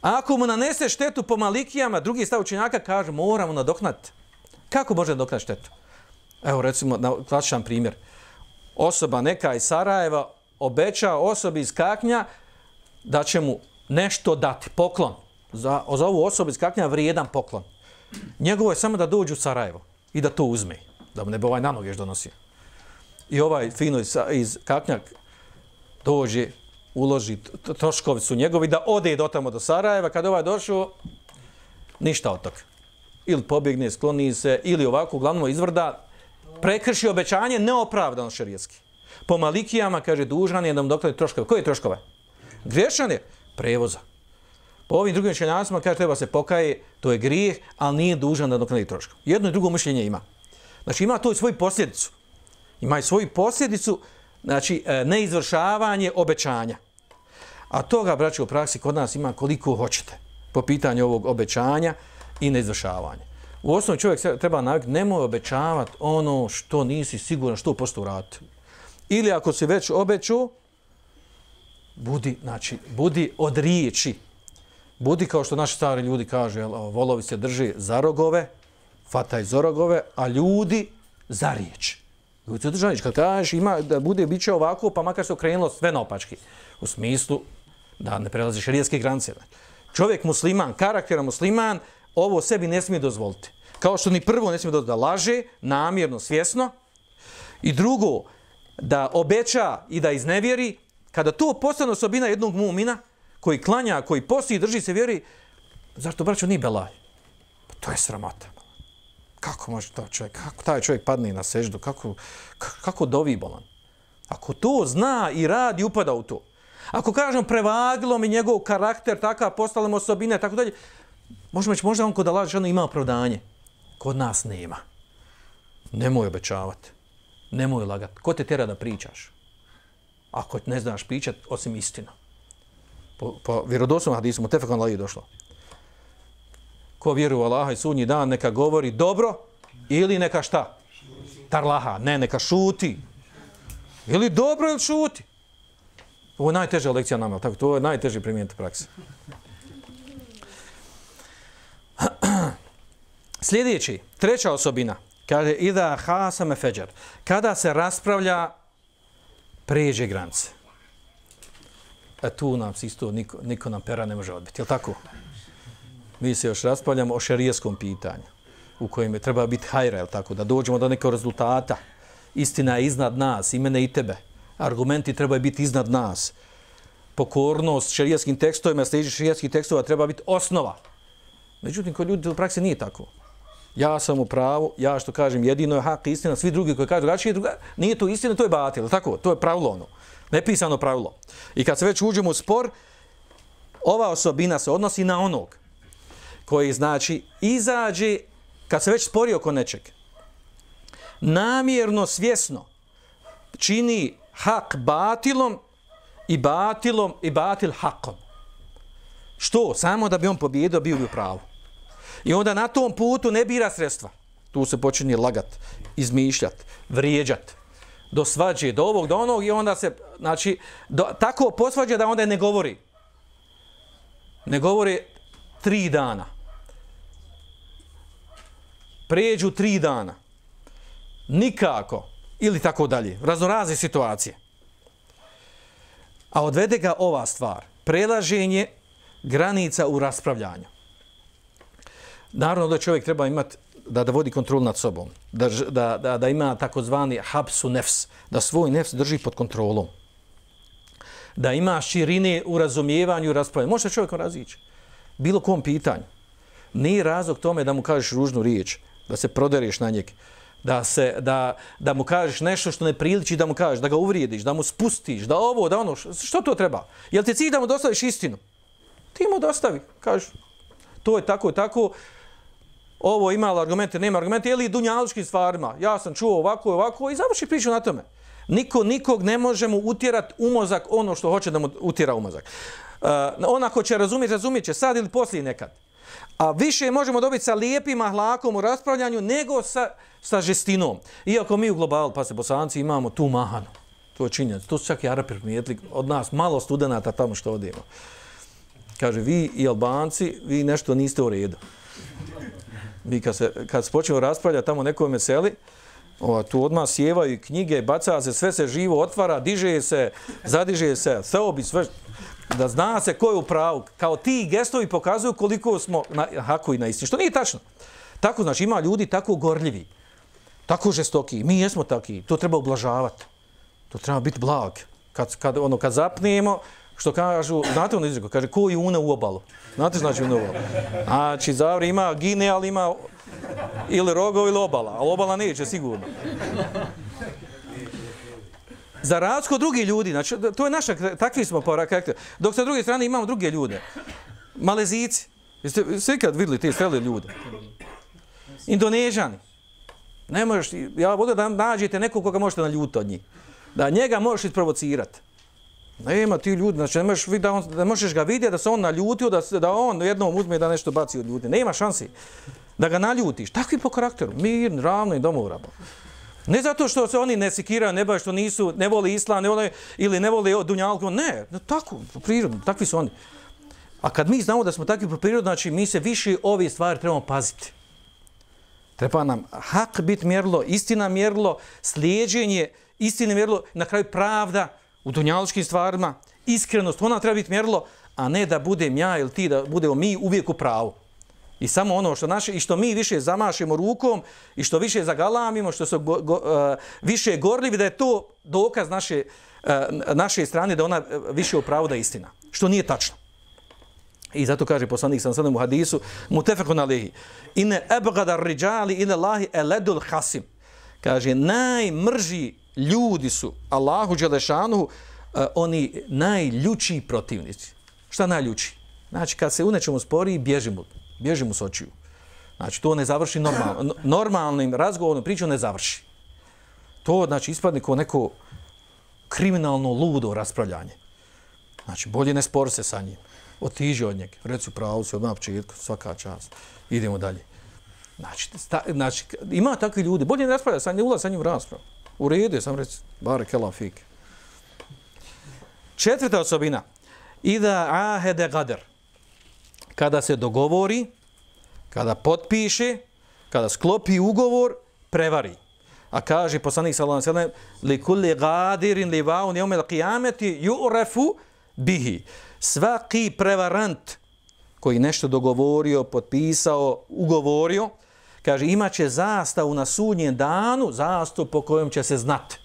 A ako mu nanese štetu po malikijama, drugi stav učenjaka kaže, moramo nadoknaditi. Kako može nadoknaditi štetu? Evo, recimo, klasičan primjer. Osoba neka iz Sarajeva obeća osobi iz Kaknja da će mu nešto dati, poklon. Za ovu osobu iz Kaknja vrijedan poklon. Njegovo je samo da dođe u Sarajevo i da to uzme, da mu ne bi ovaj na noge još donosio. I ovaj fino iz Kaknja dođe, uloži, troškovi su njegovi, da ode do tamo do Sarajeva, kad ovaj došao, ništa od toga. Ili pobjegne, skloni se, ili ovako, uglavnom izvrda, prekrši obećanje neopravdano šerijski. Po malikijama, kaže, dužan je da mu doktori troškove. Koje troškove? Griješan je prevoza. Po ovim drugim učenjacima kaže treba se pokaje, to je grijeh, ali nije dužan da doknadi troškove. Jedno i drugo mišljenje ima. Znači ima to i svoju posljedicu. Ima i svoju posljedicu, znači neizvršavanje obećanja. A toga, braći, u praksi kod nas ima koliko hoćete po pitanju ovog obećanja i neizvršavanja. U osnovi čovjek treba naviknuti, nemoj obećavati ono što nisi siguran što posto uraditi. Ili ako si već obećao, budi od riječi. Budi kao što naši stari ljudi kažu, volovi se drži za rogove, fataj za rogove, a ljudi za riječ. Ljudi se drži, kad kažeš ima da bude biće ovako, pa makar se okrenulo sve naopački. U smislu da ne prelazi šerijske granice. Čovjek musliman, karakteran musliman, ovo sebi ne smije dozvoliti. Kao što ni prvo ne smije dozvoliti da laže, namjerno, svjesno. I drugo, da obeća i da iznevjeri. Kada to postane osobina jednog mumina, koji klanja, koji posti i drži se vjeri, zašto, braćo, nije belaj? Pa to je sramota. Kako može to čovjek, kako taj čovjek padne na seždu, kako dovi bolan? Ako to zna i radi, upada u to. Ako kažem, prevagilo mi njegov karakter, takav, postale mu osobine, tako dalje, možemo reći, možda on kod Allah žena ima opravdanje. Kod nas nema. Nemoj obećavati. Nemoj lagati. Ko te tjera da pričaš? Ako ne znaš pričati, osim istina. Po vjerodostojnom hadisu, mutefekun alejhi došlo. Ko vjeruje u Allaha i sudnji dan, neka govori dobro ili neka šta? Tarlaha. Ne, neka šuti. Ili dobro ili šuti. Ovo je najteža lekcija nama, tako to je najteže primijeniti praksi. Sljedeći, treća osobina, kaže ida hasame feđar, kada se raspravlja pređe granice. Tu nam isto niko nam pera ne može odbiti, je li tako? Mi se još raspravljamo o šerijskom pitanju, u kojem je treba biti hajra, je li tako? Da dođemo do nekog rezultata. Istina je iznad nas, i mene i tebe. Argumenti trebaju biti iznad nas. Pokornost šerijskim tekstovima, sljedeći šerijskih tekstova treba biti osnova. Međutim, kod ljudi u praksi nije tako. Ja sam u pravu, ja što kažem jedino je hak, istina, svi drugi koji kažu drugačije, nije to istina, to je batil, tako? To je pravilo ono, nepisano pravilo. I kad se već uđemo u spor, ova osobina se odnosi na onog koji, znači, izađe, kad se već spori oko nečeg, namjerno, svjesno čini hak batilom i batil hakom. Što? Samo da bi on pobjedio, bio bi u pravu. I onda na tom putu ne bira sredstva. Tu se počinje lagat, izmišljat, vrijeđat, do svađe, do ovog, do onog i onda se, znači, tako posvađa da onda ne govori. Ne govori 3 dana. Pređu 3 dana. Nikako. Ili tako dalje. Raznorazne situacije. A odvede ga ova stvar. Prelaženje granica u raspravljanju. Naravno da čovjek treba imati da vodi kontrolu nad sobom. Da ima takozvani hapsu nefs. Da svoj nefs drži pod kontrolom. Da ima širine u razumijevanju i raspravljanju. Može čovjekom razići. Bilo kom pitanju. Nije razlog tome da mu kažeš ružnu riječ. Da se prodereš na njeg. Da mu kažeš nešto što ne priliči da mu kažeš. Da ga uvrijediš, da mu spustiš, da ovo, da ono. Što to treba? Jel ti cilj da mu dostaviš istinu? Ti mu dostavi. Kažeš, to je tako i tako. Ovo ima argumente, nema argumente. Ili dunjalučkim stvarima. Ja sam čuo ovako i ovako i završi priču na tome. Nikog ne može mu utjerati u mozak ono što hoće da mu utjera u mozak. On ako će razumjet će sad ili poslije nekad. A više možemo dobiti sa lijepim ahlakom u raspravljanju nego sa žestinom. Iako mi u globalu, pa se Bosanci, imamo tu mahanu. To je činjenica. To su čak i Arapi primijetili od nas, malo studenata tamo što odimo. Kaže, vi i Albanci, vi nešto niste u redu. Mi kad se počnemo raspravljati tamo nekoj meseli, tu odmah sjevaju knjige, baca se, sve se živo otvara, diže se, zadiže se, seobi, sve, da zna se ko je u pravu. Kao ti gestovi pokazuju koliko smo na haku i na istini. Što nije tačno. Tako, znači, ima ljudi tako gorljivi, tako žestoki. Mi jesmo taki, to treba ublažavati. To treba biti blag. Kad zapnemo, što kažu, znate ono izreku, kaže, ko je una u obalu? Znate znači una u obalu? Znači, zavri ima gine, ali ima ili rogov ili obala, ali obala neće sigurno. Za razliku od drugih ljudi, znači, to je naša, takvi smo po karakteru. Dok sa druge strane imamo druge ljude. Malezici. Jeste ikad vidjeli te strele ljude? Indonežani. Ne možeš, ja volim da nađete nekog koga možete naljutiti od njih. Da njega možeš isprovocirati. Nema ti ljudi, znači ne možeš ga vidjeti da se on naljutio, da on jednom uzme da nešto baci od ljudi. Nema šansi da ga naljutiš. Takvi po karakteru, mirni, ravni, domorabo. Ne zato što se oni ne sikiraju, ne baš što ne vole islam, ili ne vole dunjalku, ne, tako, po prirodu, takvi su oni. A kad mi znamo da smo takvi po prirodu, znači mi se više ove stvari trebamo paziti. Treba nam hak biti mjerilo, istina mjerilo, slijeđenje, istine mjerilo, na kraju pravda u dunjalučkim stvarima, iskrenost, ona treba biti mjerilo, a ne da budem ja ili ti, da budemo mi uvijek u pravu. I samo ono što naše, i što mi više zamašemo rukom, i što više zagalamimo, što su više gorljivi, da je to dokaz naše strane, da ona više u pravu da je istina. Što nije tačno. I zato kaže poslanik sallallahu alejhi ve sellem u hadisu mutafekun alejhi inne abghada ar-rijali ila Allahi aladul khasim. Kaže najmrži ljudi su Allahu dželešanu oni najljuči protivnici. Šta najljuči? Znači kad se u nečemu spori bježi mu s očiju. Znači to ne završi normalnim razgovorom, pričom ne završi. To znači ispadne kao neko kriminalno ludo raspravljanje. Znači bolje ne spori se sa njim. Otiđi od njega, reci pravo si odmah na početku, svaka čast. Idemo dalje. Znači, ima takvi ljudi, bolje ne raspravlja sa njim, ulazi sa njim u raspravu. U redu je, sam reci, barakallahu fik. 4. osobina. Ida ahede gader. Kada se dogovori, kada potpiše, kada sklopi ugovor, prevari. A kaže poslanik sallallahu alejhi ve sellem li kulli gadirin li vaun yawm al-qiyamati yu'rafu bihi. Svaki prevarant koji nešto dogovorio, potpisao, ugovorio, kaže imaće zastavu na sudnjem danu, zastavu po kojom će se znati.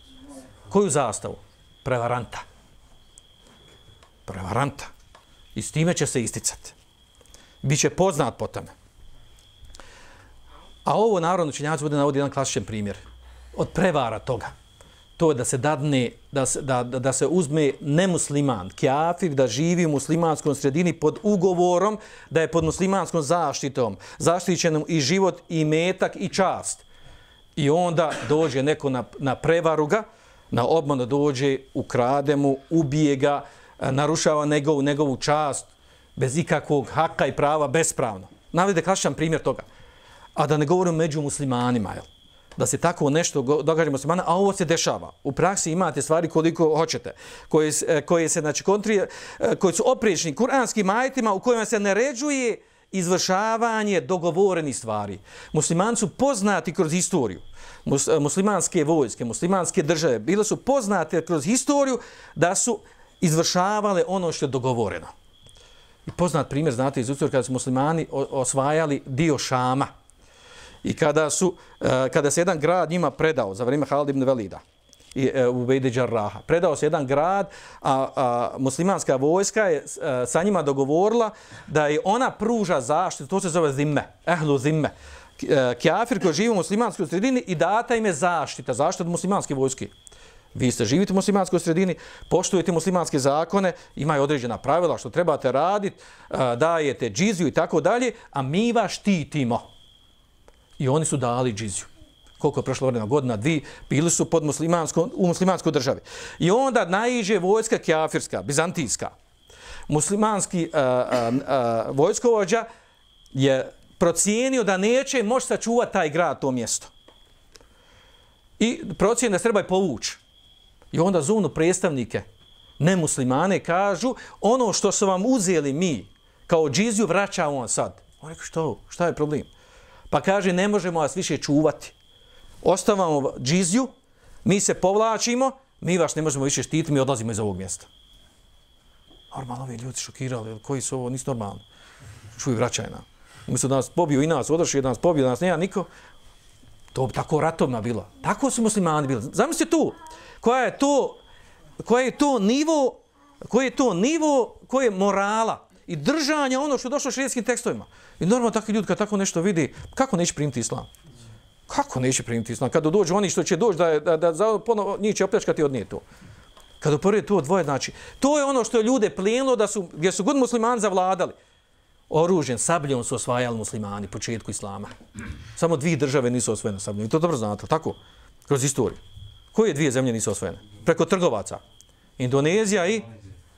Koju zastavu? Prevaranta. Prevaranta. I s time će se isticati. Biće poznat po tome. A ovo narodno učenjaci bude navodi jedan klasičan primjer. Od prevara toga. To je da se dadne, da se uzme nemusliman, kafir, da živi u muslimanskom sredini pod ugovorom, da je pod muslimanskom zaštitom, zaštićenom i život, i metak, i čast. I onda dođe neko na prevaru ga, na obmanu dođe, ukrade mu, ubije ga, narušava njegovu čast, bez ikakvog haka i prava, bespravno. Navede klasičan primjer toga. A da ne govorim među muslimanima, jel? Da se tako nešto događa muslimana, a ovo se dešava. U praksi imate stvari koliko hoćete, koje se znači koji su opriječni kuranskim ajetima u kojima se naređuje izvršavanje dogovorenih stvari. Muslimani su poznati kroz historiju. Muslimanske vojske, muslimanske države bile su poznate kroz historiju da su izvršavale ono što je dogovoreno. I poznat primjer, znate, iz istorije kada su muslimani osvajali dio Šama. I kada se jedan grad njima predao za vrijeme Halid ibn Velida i Ubejde Džarraha, predao se jedan grad, a muslimanska vojska je sa njima dogovorila da je ona pruža zaštitu, to se zove zimme, ehlu zimme, kafir koji živi u muslimanskoj sredini i data im je zaštita od muslimanske vojske. Vi ste živite u muslimanskoj sredini, poštujete muslimanske zakone, imaju određena pravila što trebate raditi, dajete džiziju i tako dalje, a mi vas štitimo. I oni su dali džiziju. Koliko je prošlo vremena, godina, 2, bili su u muslimanskoj državi. I onda naiđe vojska kafirska, bizantijska. Muslimanski vojskovođa je procijenio da neće moći sačuvati taj grad, to mjesto. I procijenio da se treba povući. I onda zovnu predstavnike, nemuslimane, kažu ono što su vam uzeli mi kao džiziju vraćamo on sad. On rekao šta je problem? Pa kaže ne možemo vas više čuvati. Ostavamo džiziju, mi se povlačimo, mi vas ne možemo više štititi, mi odlazimo iz ovog mjesta. Normalno ovi ljudi šokirali, koji su ovo, nisu normalni. Čuj, vraćaj nam. Umjesto da nas pobiju i nas, odrašli da nas pobiju, da nas nema niko. To bi tako ratovima bilo. Tako su muslimani bili. Zamislite tu, koji je to nivo koje morala i držanja ono što je došlo u šerijskim tekstovima. I normalno takvi ljudi kad tako nešto vidi, kako neće primiti islam? Kako neće primiti islam? Kada dođu oni što će doći da ponovo njih će opljačkati od nije to. Kada uporedi to dvoje, znači, to je ono što je ljude plijenilo gdje su god muslimani zavladali. Oružjem, sabljom su osvajali muslimani početku islama. Samo 2 države nisu osvojene sabljom. I to dobro znate, tako? Kroz istoriju. Koje 2 zemlje nisu osvojene? Preko trgovaca. Indonezija i...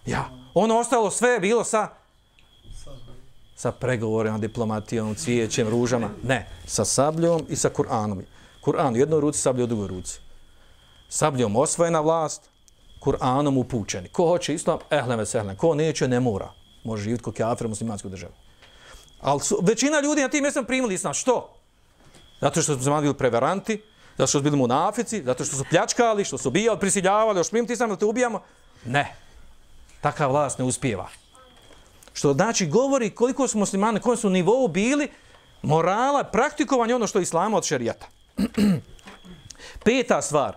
Ja. Ono ostalo sve je bilo sa pregovorima, diplomatijom, cvijećem, ružama. Ne. Sa sabljom i sa Kur'anom. Kur'an u jednoj ruci, sablja u drugoj ruci. Sabljom osvojena vlast, Kur'anom upućeni. Ko hoće islam, ehlen ve sehlen. Ko neće, ne mora. Može živjeti kao kafir u muslimanskoj državi. Ali većina ljudi na tim mjestima primili islam. Što? Zato što su muslimani bili preveranti, zato što su bili munafici, zato što su pljačkali, što su ubijali, prisiljavali, još primiti islam da te ubijamo. Ne. Taka vlast ne uspijeva. Što znači govori koliko su muslimani, kojem su nivou bili morala, praktikovanje ono što je islama od šerijata. 5. stvar.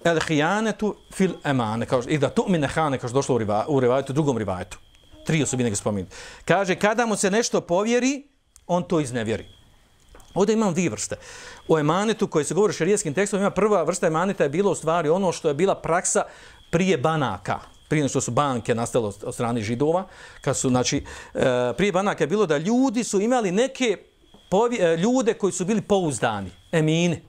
El hijanetu fil emane, i da tu'mine hane, kao što došlo u rivajetu, drugom rivajetu. 3 osobine ga spominjati. Kaže, kada mu se nešto povjeri, on to iznevjeri. Ovdje imamo 2 vrste. O emanetu koji se govori o šerijskim tekstom, ima prva vrsta emaneta je bilo u stvari ono što je bila praksa prije banaka. Prije što su banke nastale od strane židova. Kad su, znači, prije banaka je bilo da ljudi su imali neke ljude koji su bili pouzdani, emini.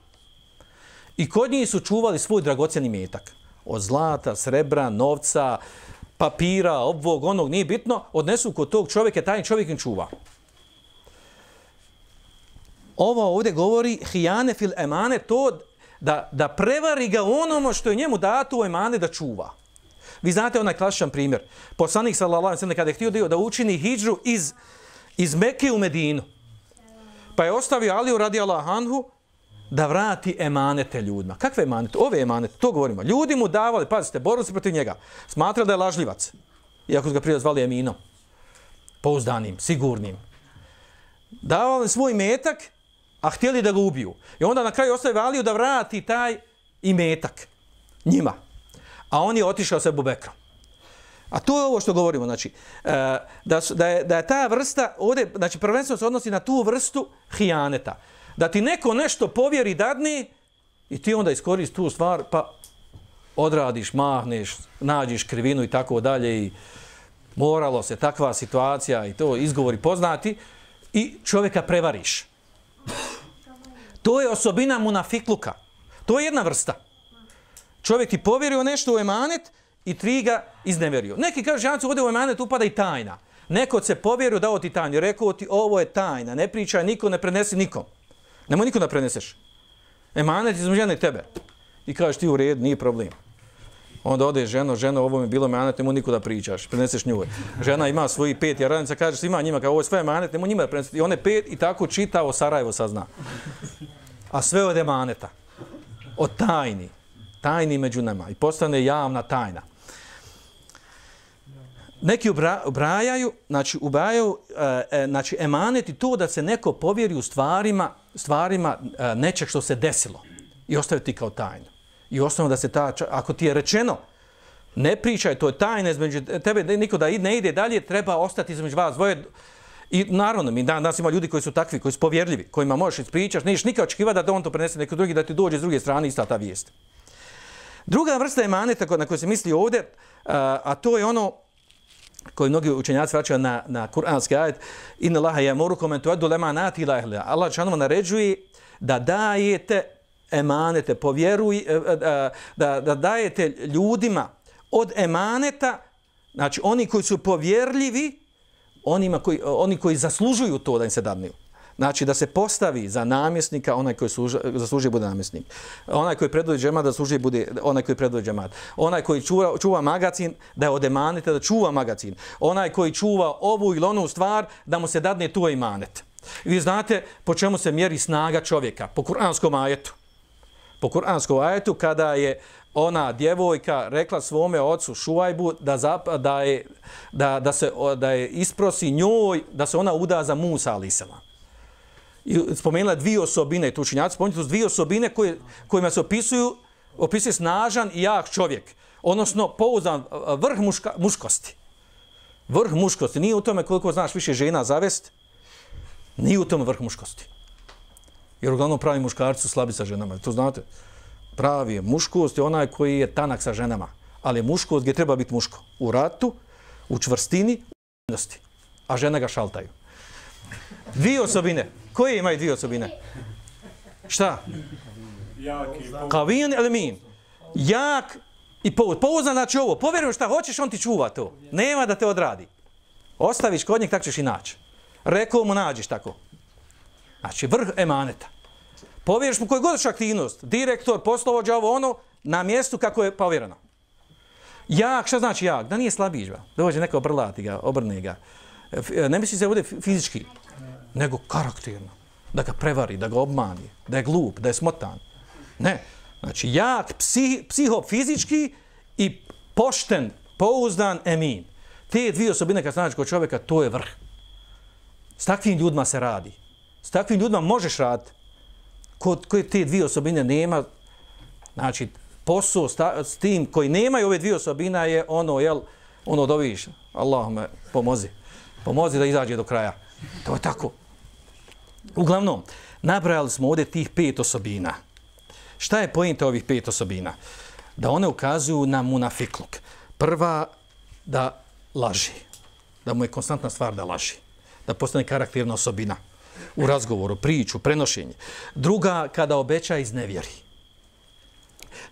I kod njih su čuvali svoj dragocjeni metak. Od zlata, srebra, novca, papira, ovog, onog, nije bitno. Odnesu kod tog čovjeka, taj čovjek im čuva. Ovo ovdje govori hijane fil emane, to da prevari ga onomu što je njemu dato u emane da čuva. Vi znate onaj klasičan primjer. Poslanik sallallahu alejhi ve sellem kada je htio da učini hidžru iz Mekke u Medinu. Pa je ostavio Aliju radijallahu anhu da vrati emanete ljudima. Kakve emanete? Ove emanete, to govorimo. Ljudi mu davali, pazite, borili se protiv njega. Smatrali da je lažljivac. Iako su ga prije zvali eminom. Pouzdanim, sigurnim. Davali svoj metak, a htjeli da ga ubiju. I onda na kraju ostavio Aliju da vrati taj imetak njima. A on je otišao sa Ebu Bekrom. A to je ovo što govorimo, znači, da je ta vrsta, ovdje, znači, prvenstveno se odnosi na tu vrstu hijaneta. Da ti neko nešto povjeri, dadne, i ti onda iskoristi tu stvar, pa odradiš, mahneš, nađiš krivinu i tako dalje, i moralo se takva situacija i to izgovori poznati, i čovjeka prevariš. To je osobina munafikluka. To je jedna vrsta. Čovjek ti povjerio nešto u emanet i 3 ga izneverio. Neki kažu, žancu, ovdje u emanet upada i tajna. neko se povjerio dao ti tajnu, rekao ti ovo je tajna, ne pričaj niko, ne prenesi nikom. Nemoj niko da preneseš. Emanet između žene i tebe. I kažeš ti u redu, nije problem. Onda ode ženo, ovo mi je bilo emanet, nemoj niko da pričaš, preneseš njoj. Žena ima svoji 5 jaranica, kaže svima njima, kao ovo je sve emanet, nemoj njima da preneseš. I one 5 i tako čitao Sarajevo sazna. A sve od emaneta. Od tajni među nama. I postane javna tajna. Neki ubrajaju, znači emanet i to da se neko povjeri u stvarima nečeg što se desilo i ostavi ti kao tajnu. I osnovno da se ako ti je rečeno ne pričaj, to je tajna između tebe, niko da ne ide dalje, treba ostati između vas dvoje. I naravno, mi danas ima ljudi koji su takvi, koji su povjerljivi, kojima možeš ispričaš, nećeš nikad očekivati da on to prenese neko drugi, da ti dođe s druge strane ista ta vijest. Druga vrsta emaneta na koju se misli ovdje, a to je ono koji mnogi učenjaci vraćaju na kuranski ajet, inna Allaha ya'murukum an tu'addu al-amanati ila ahliha. Allah dželle naređuje da dajete emanete, da dajete ljudima od emaneta, znači oni koji su povjerljivi, oni koji zaslužuju to da im se dadne. Znači da se postavi za namjesnika onaj koji zaslužuje bude namjesnik. Onaj koji predvodi džemat da zaslužuje bude onaj koji predvodi džemat. Onaj koji čuva magacin da je od emaneta da čuva magacin. Onaj koji čuva ovu ili onu stvar da mu se dadne tu emanet. Vi znate po čemu se mjeri snaga čovjeka? Po kuranskom ajetu. Po kuranskom ajetu kada je ona djevojka rekla svome ocu Šuajbu da je isprosi njoj da se ona uda za Musa alejselam. I spomenula dvije osobine, tu učenjaci spomenuti su dvije osobine kojima se opisuje snažan i jak čovjek, odnosno pouzdan vrh muškosti. Vrh muškosti, nije u tome koliko znaš više žena zavest, nije u tome vrh muškosti. Jer uglavnom pravi muškarci su slabi sa ženama, to znate. Pravi je muškost je onaj koji je tanak sa ženama, ali muškost gdje treba biti muško. U ratu, u čvrstini, u vrijednosti, a žene ga šaltaju. Dvije osobine. Koje imaju dvije osobine? Šta? Kavijan ili min? Jak i pouzdan, znači ovo. Povjerujem šta hoćeš, on ti čuva to. Nema da te odradi. Ostaviš kod njeg, tako ćeš i naći. Rekao mu nađiš tako. Znači vrh emaneta. Povjeriš mu koju god aktivnost, direktor, poslovođa, ovo ono, na mjestu kako je povjereno. Jak, šta znači jak? Da nije slabić, ba. Dođe neko obrlati ga, obrne ga. Ne misli se ovdje fizički, nego karakterno. Da ga prevari, da ga obmani, da je glup, da je smotan. Ne. Znači jak, psihofizički i pošten, pouzdan, emin. Te dvije osobine kad znaš kod čovjeka, to je vrh. S takvim ljudima se radi. S takvim ljudima možeš raditi. Koje te dvije osobine nema, znači posao s tim koji nemaju ove dvije osobina je ono doviš, Allahume pomozi da izađe do kraja. To je tako. Uglavnom, nabrajali smo ovdje tih 5 osobina. Šta je poenta ovih 5 osobina? Da one ukazuju na munafikluk. Prva, da laži. Da mu je konstantna stvar da laži. Da postane karakterna osobina. U razgovoru, priču, prenošenje. Druga, kada obeća iznevjeri.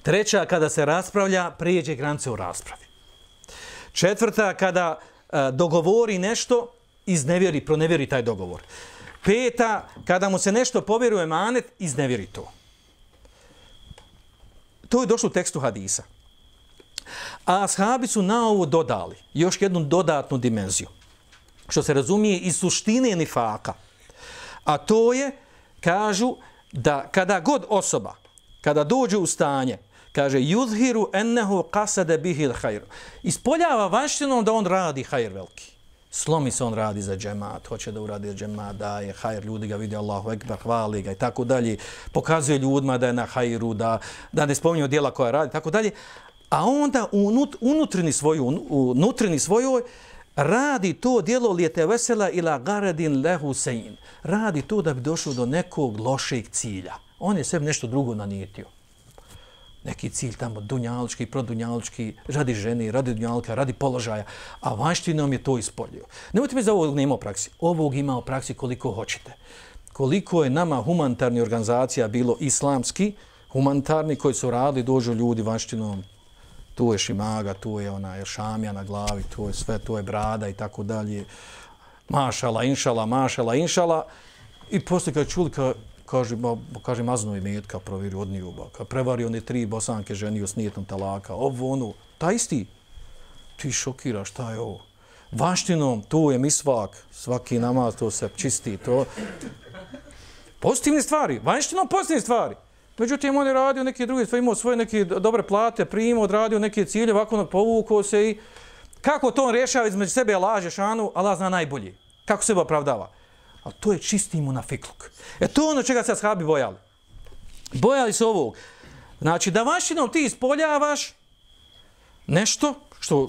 Treća, kada se raspravlja, prijeđe granice u raspravi. Četvrta, kada dogovori nešto, iznevjeri, pronevjeri taj dogovor. Peta, kada mu se nešto povjeruje emanet, iznevjeri to. To je došlo u tekstu hadisa. A ashabi su na ovo dodali još jednu dodatnu dimenziju. Što se razumije iz suštine nifaka. A to je, kažu, da kada god osoba, kada dođe u stanje, kaže, yuzhiru ennehu qasade bihil hajr. Ispoljava vanštinom da on radi hajr veliki. Slomi se on radi za džemat, hoće da uradi za džemat, da je hajr, ljudi ga vidi, Allahu ekber, hvali ga i tako dalje. Pokazuje ljudima da je na hajru, da ne spominju djela koja radi, tako dalje. A onda u nutrini svojoj radi to djelo lijete vesela ila garadin lehu sejin. Radi to da bi došao do nekog lošeg cilja. On je sebi nešto drugo nanijetio. Neki cilj tamo dunjalučki, produnjalučki, radi žene, radi dunjalka, radi položaja, a vanštinom je to ispoljio. Nemojte mi za ovog nema u praksi. Ovog ima u praksi koliko hoćete. Koliko je nama humanitarni organizacija bilo islamski, humanitarni koji su radili, dođu ljudi vanštinom, tu je šimaga, tu je ona šamija na glavi, tu je sve, tu je brada i tako dalje. Mašala, inšala. I poslije kad čuli, kaže mazno imetka, provjerio od njuba, kad prevario one 3 bosanke ženio s nijetom talaka, taj isti, ti šokiraš, šta je ovo? Vanštinom, tu je misvak, svaki namaz, to se čisti, to. Pozitivne stvari, vanštinom pozitivne stvari. Međutim, on je radio neke druge stvari, imao svoje neke dobre plate, primao, odradio neke cilje, ovako povukao se i kako to on rješava između sebe, laže šanu, Allah zna najbolje. Kako sebe opravdava. Ali to je čisti munafikluk. To je ono čega se ashabi bojali. Bojali se ovog. Znači, da vanštinom ti ispoljavaš nešto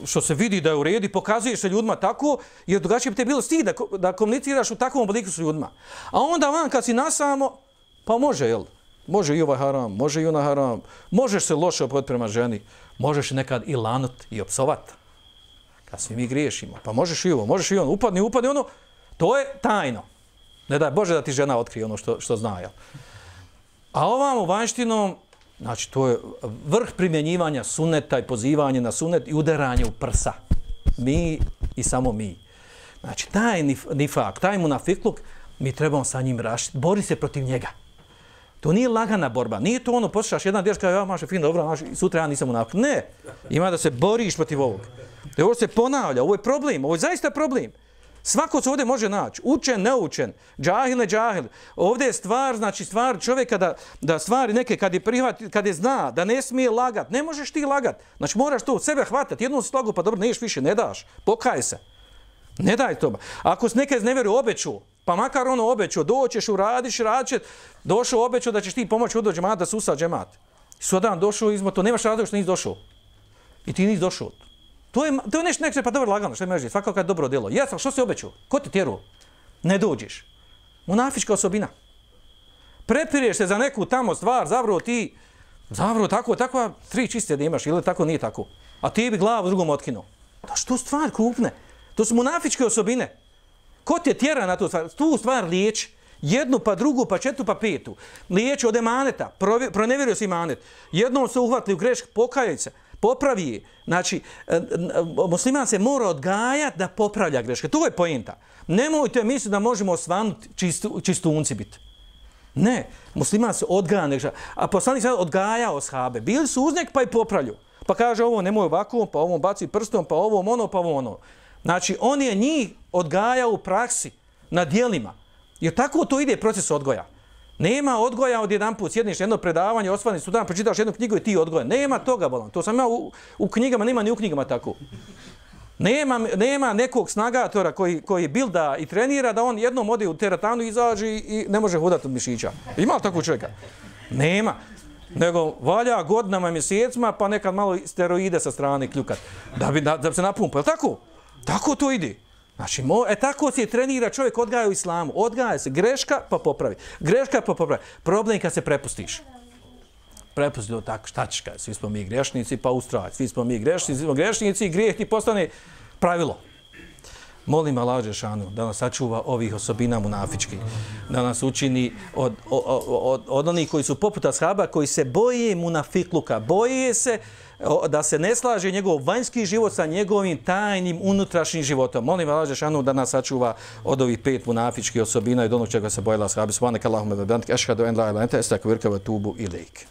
što se vidi da je u redu i pokazuješ se ljudima tako, jer drugačije bi te bilo stid da komuniciraš u takvom obliku s ljudima. A onda van kad si nasamo, pa može, jel? Može i ovaj haram, može i ona haram, možeš se loše opod prema ženi, možeš nekad i lanut i opsovat. Kad svi mi griješimo, pa možeš i ovo, možeš i ono, upadni ono, to je tajno. Ne daj Bože da ti žena otkrije ono što zna, jel? A ovamo vanštinom, znači to je vrh primjenjivanja suneta i pozivanje na sunet i udaranje u prsa. Mi i samo mi. Znači taj nifak, taj munafikluk, mi trebamo sa njim rašiti, bori se protiv njega. To nije lagana borba, nije to ono, poslušaš jedna dječka, ja maše fin, dobro, maše, sutra ja nisam munafik. Ne, ima da se boriš protiv ovog. Ovo se ponavlja, ovo je problem, ovo je zaista problem. Svako se ovdje može naći, učen, neučen, džahil, ne džahil. Ovdje je stvar, znači stvar čovjeka da stvari neke kad je zna, da ne smije lagat, ne možeš ti lagat. Znači moraš to od sebe hvatati, jednom slagu, pa dobro, neš više, ne daš, pokaj se. Ne daj to. Ako se neke znevjeru obeću, pa makar ono obeću, doćeš, uradiš, radit došao obeću da ćeš ti pomoći udo džemat da susa džemat. Sudan došao izmo, to nemaš razlog što nisi došao. I ti nisi došao. To je nešto, pa dobro lagano, što imaš reći, svakako je dobro djelo. Jesam, što si obećao? Ko ti tjeruo? Ne dođeš. Munafička osobina. Prepireš se za neku tamo stvar, zavrlo tako, 3 čiste da imaš, ili tako nije tako. A ti bi glavu drugom otkinuo. To što stvar krupne. To su munafičke osobine. Ko te tjera na tu stvar liječ? Jednu, pa drugu, pa četvrtu, pa petu. Liječ od emaneta, pronevjerio si emanet. Jednom se uhvatili u grešku, pokajaj se, popravi je. Znači, musliman se mora odgajati da popravlja greške. To je poenta. Nemojte misliti da možemo osvanuti čistunci biti. Ne, musliman se odgaja. A poslanik se odgajao ashabe. Bili su uz nek pa i popravlju. Pa kaže ovo nemoj ovako, pa ovom baci prstom, pa ovom ono, pa ovo ono. Znači, on je njih odgajao u praksi, na dijelima. Jer tako to ide proces odgoja. Nema odgoja od jedan put, sjedniš jedno predavanje, osvani sudan, pročitaš jednu knjigu i ti odgoja. Nema toga, bolan. To sam ja u knjigama, nema ni u knjigama tako. Nema nekog snagatora koji bilda i trenira da on jednom ode u teretanu, izađe i ne može hodati od mišića. Ima li takvog čovjeka? Nema. Nego valja godinama, mjesecima, pa nekad malo steroide sa strane kljukat. Da bi se napumpa. Je tako? Tako to ide. Znači, tako se trenira čovjek, odgaja u islamu. Odgaja se greška pa popravi. Greška pa popravi. Problem kad se prepustiš. Prepusti to tako, šta ćeš kaj? Svi smo mi grešnici pa ustrajati. Svi smo mi grešnici i grijeh ti postane pravilo. Molim Allah dželešanu da nas sačuva ovih osobina munafičkih. Da nas učini od onih koji su poput ashaba, koji se boje munafikluka. Boje se da se ne slaže njegov vanjski život sa njegovim tajnim unutrašnjim životom. Molim Allah dželešanu da nas sačuva od ovih 5 munafičkih osobina i od onog čega se bojala ashabi. Subhanaka Allahumma wa bihamdika ashhadu an la ilaha illa anta astaghfiruka wa atubu ilejk.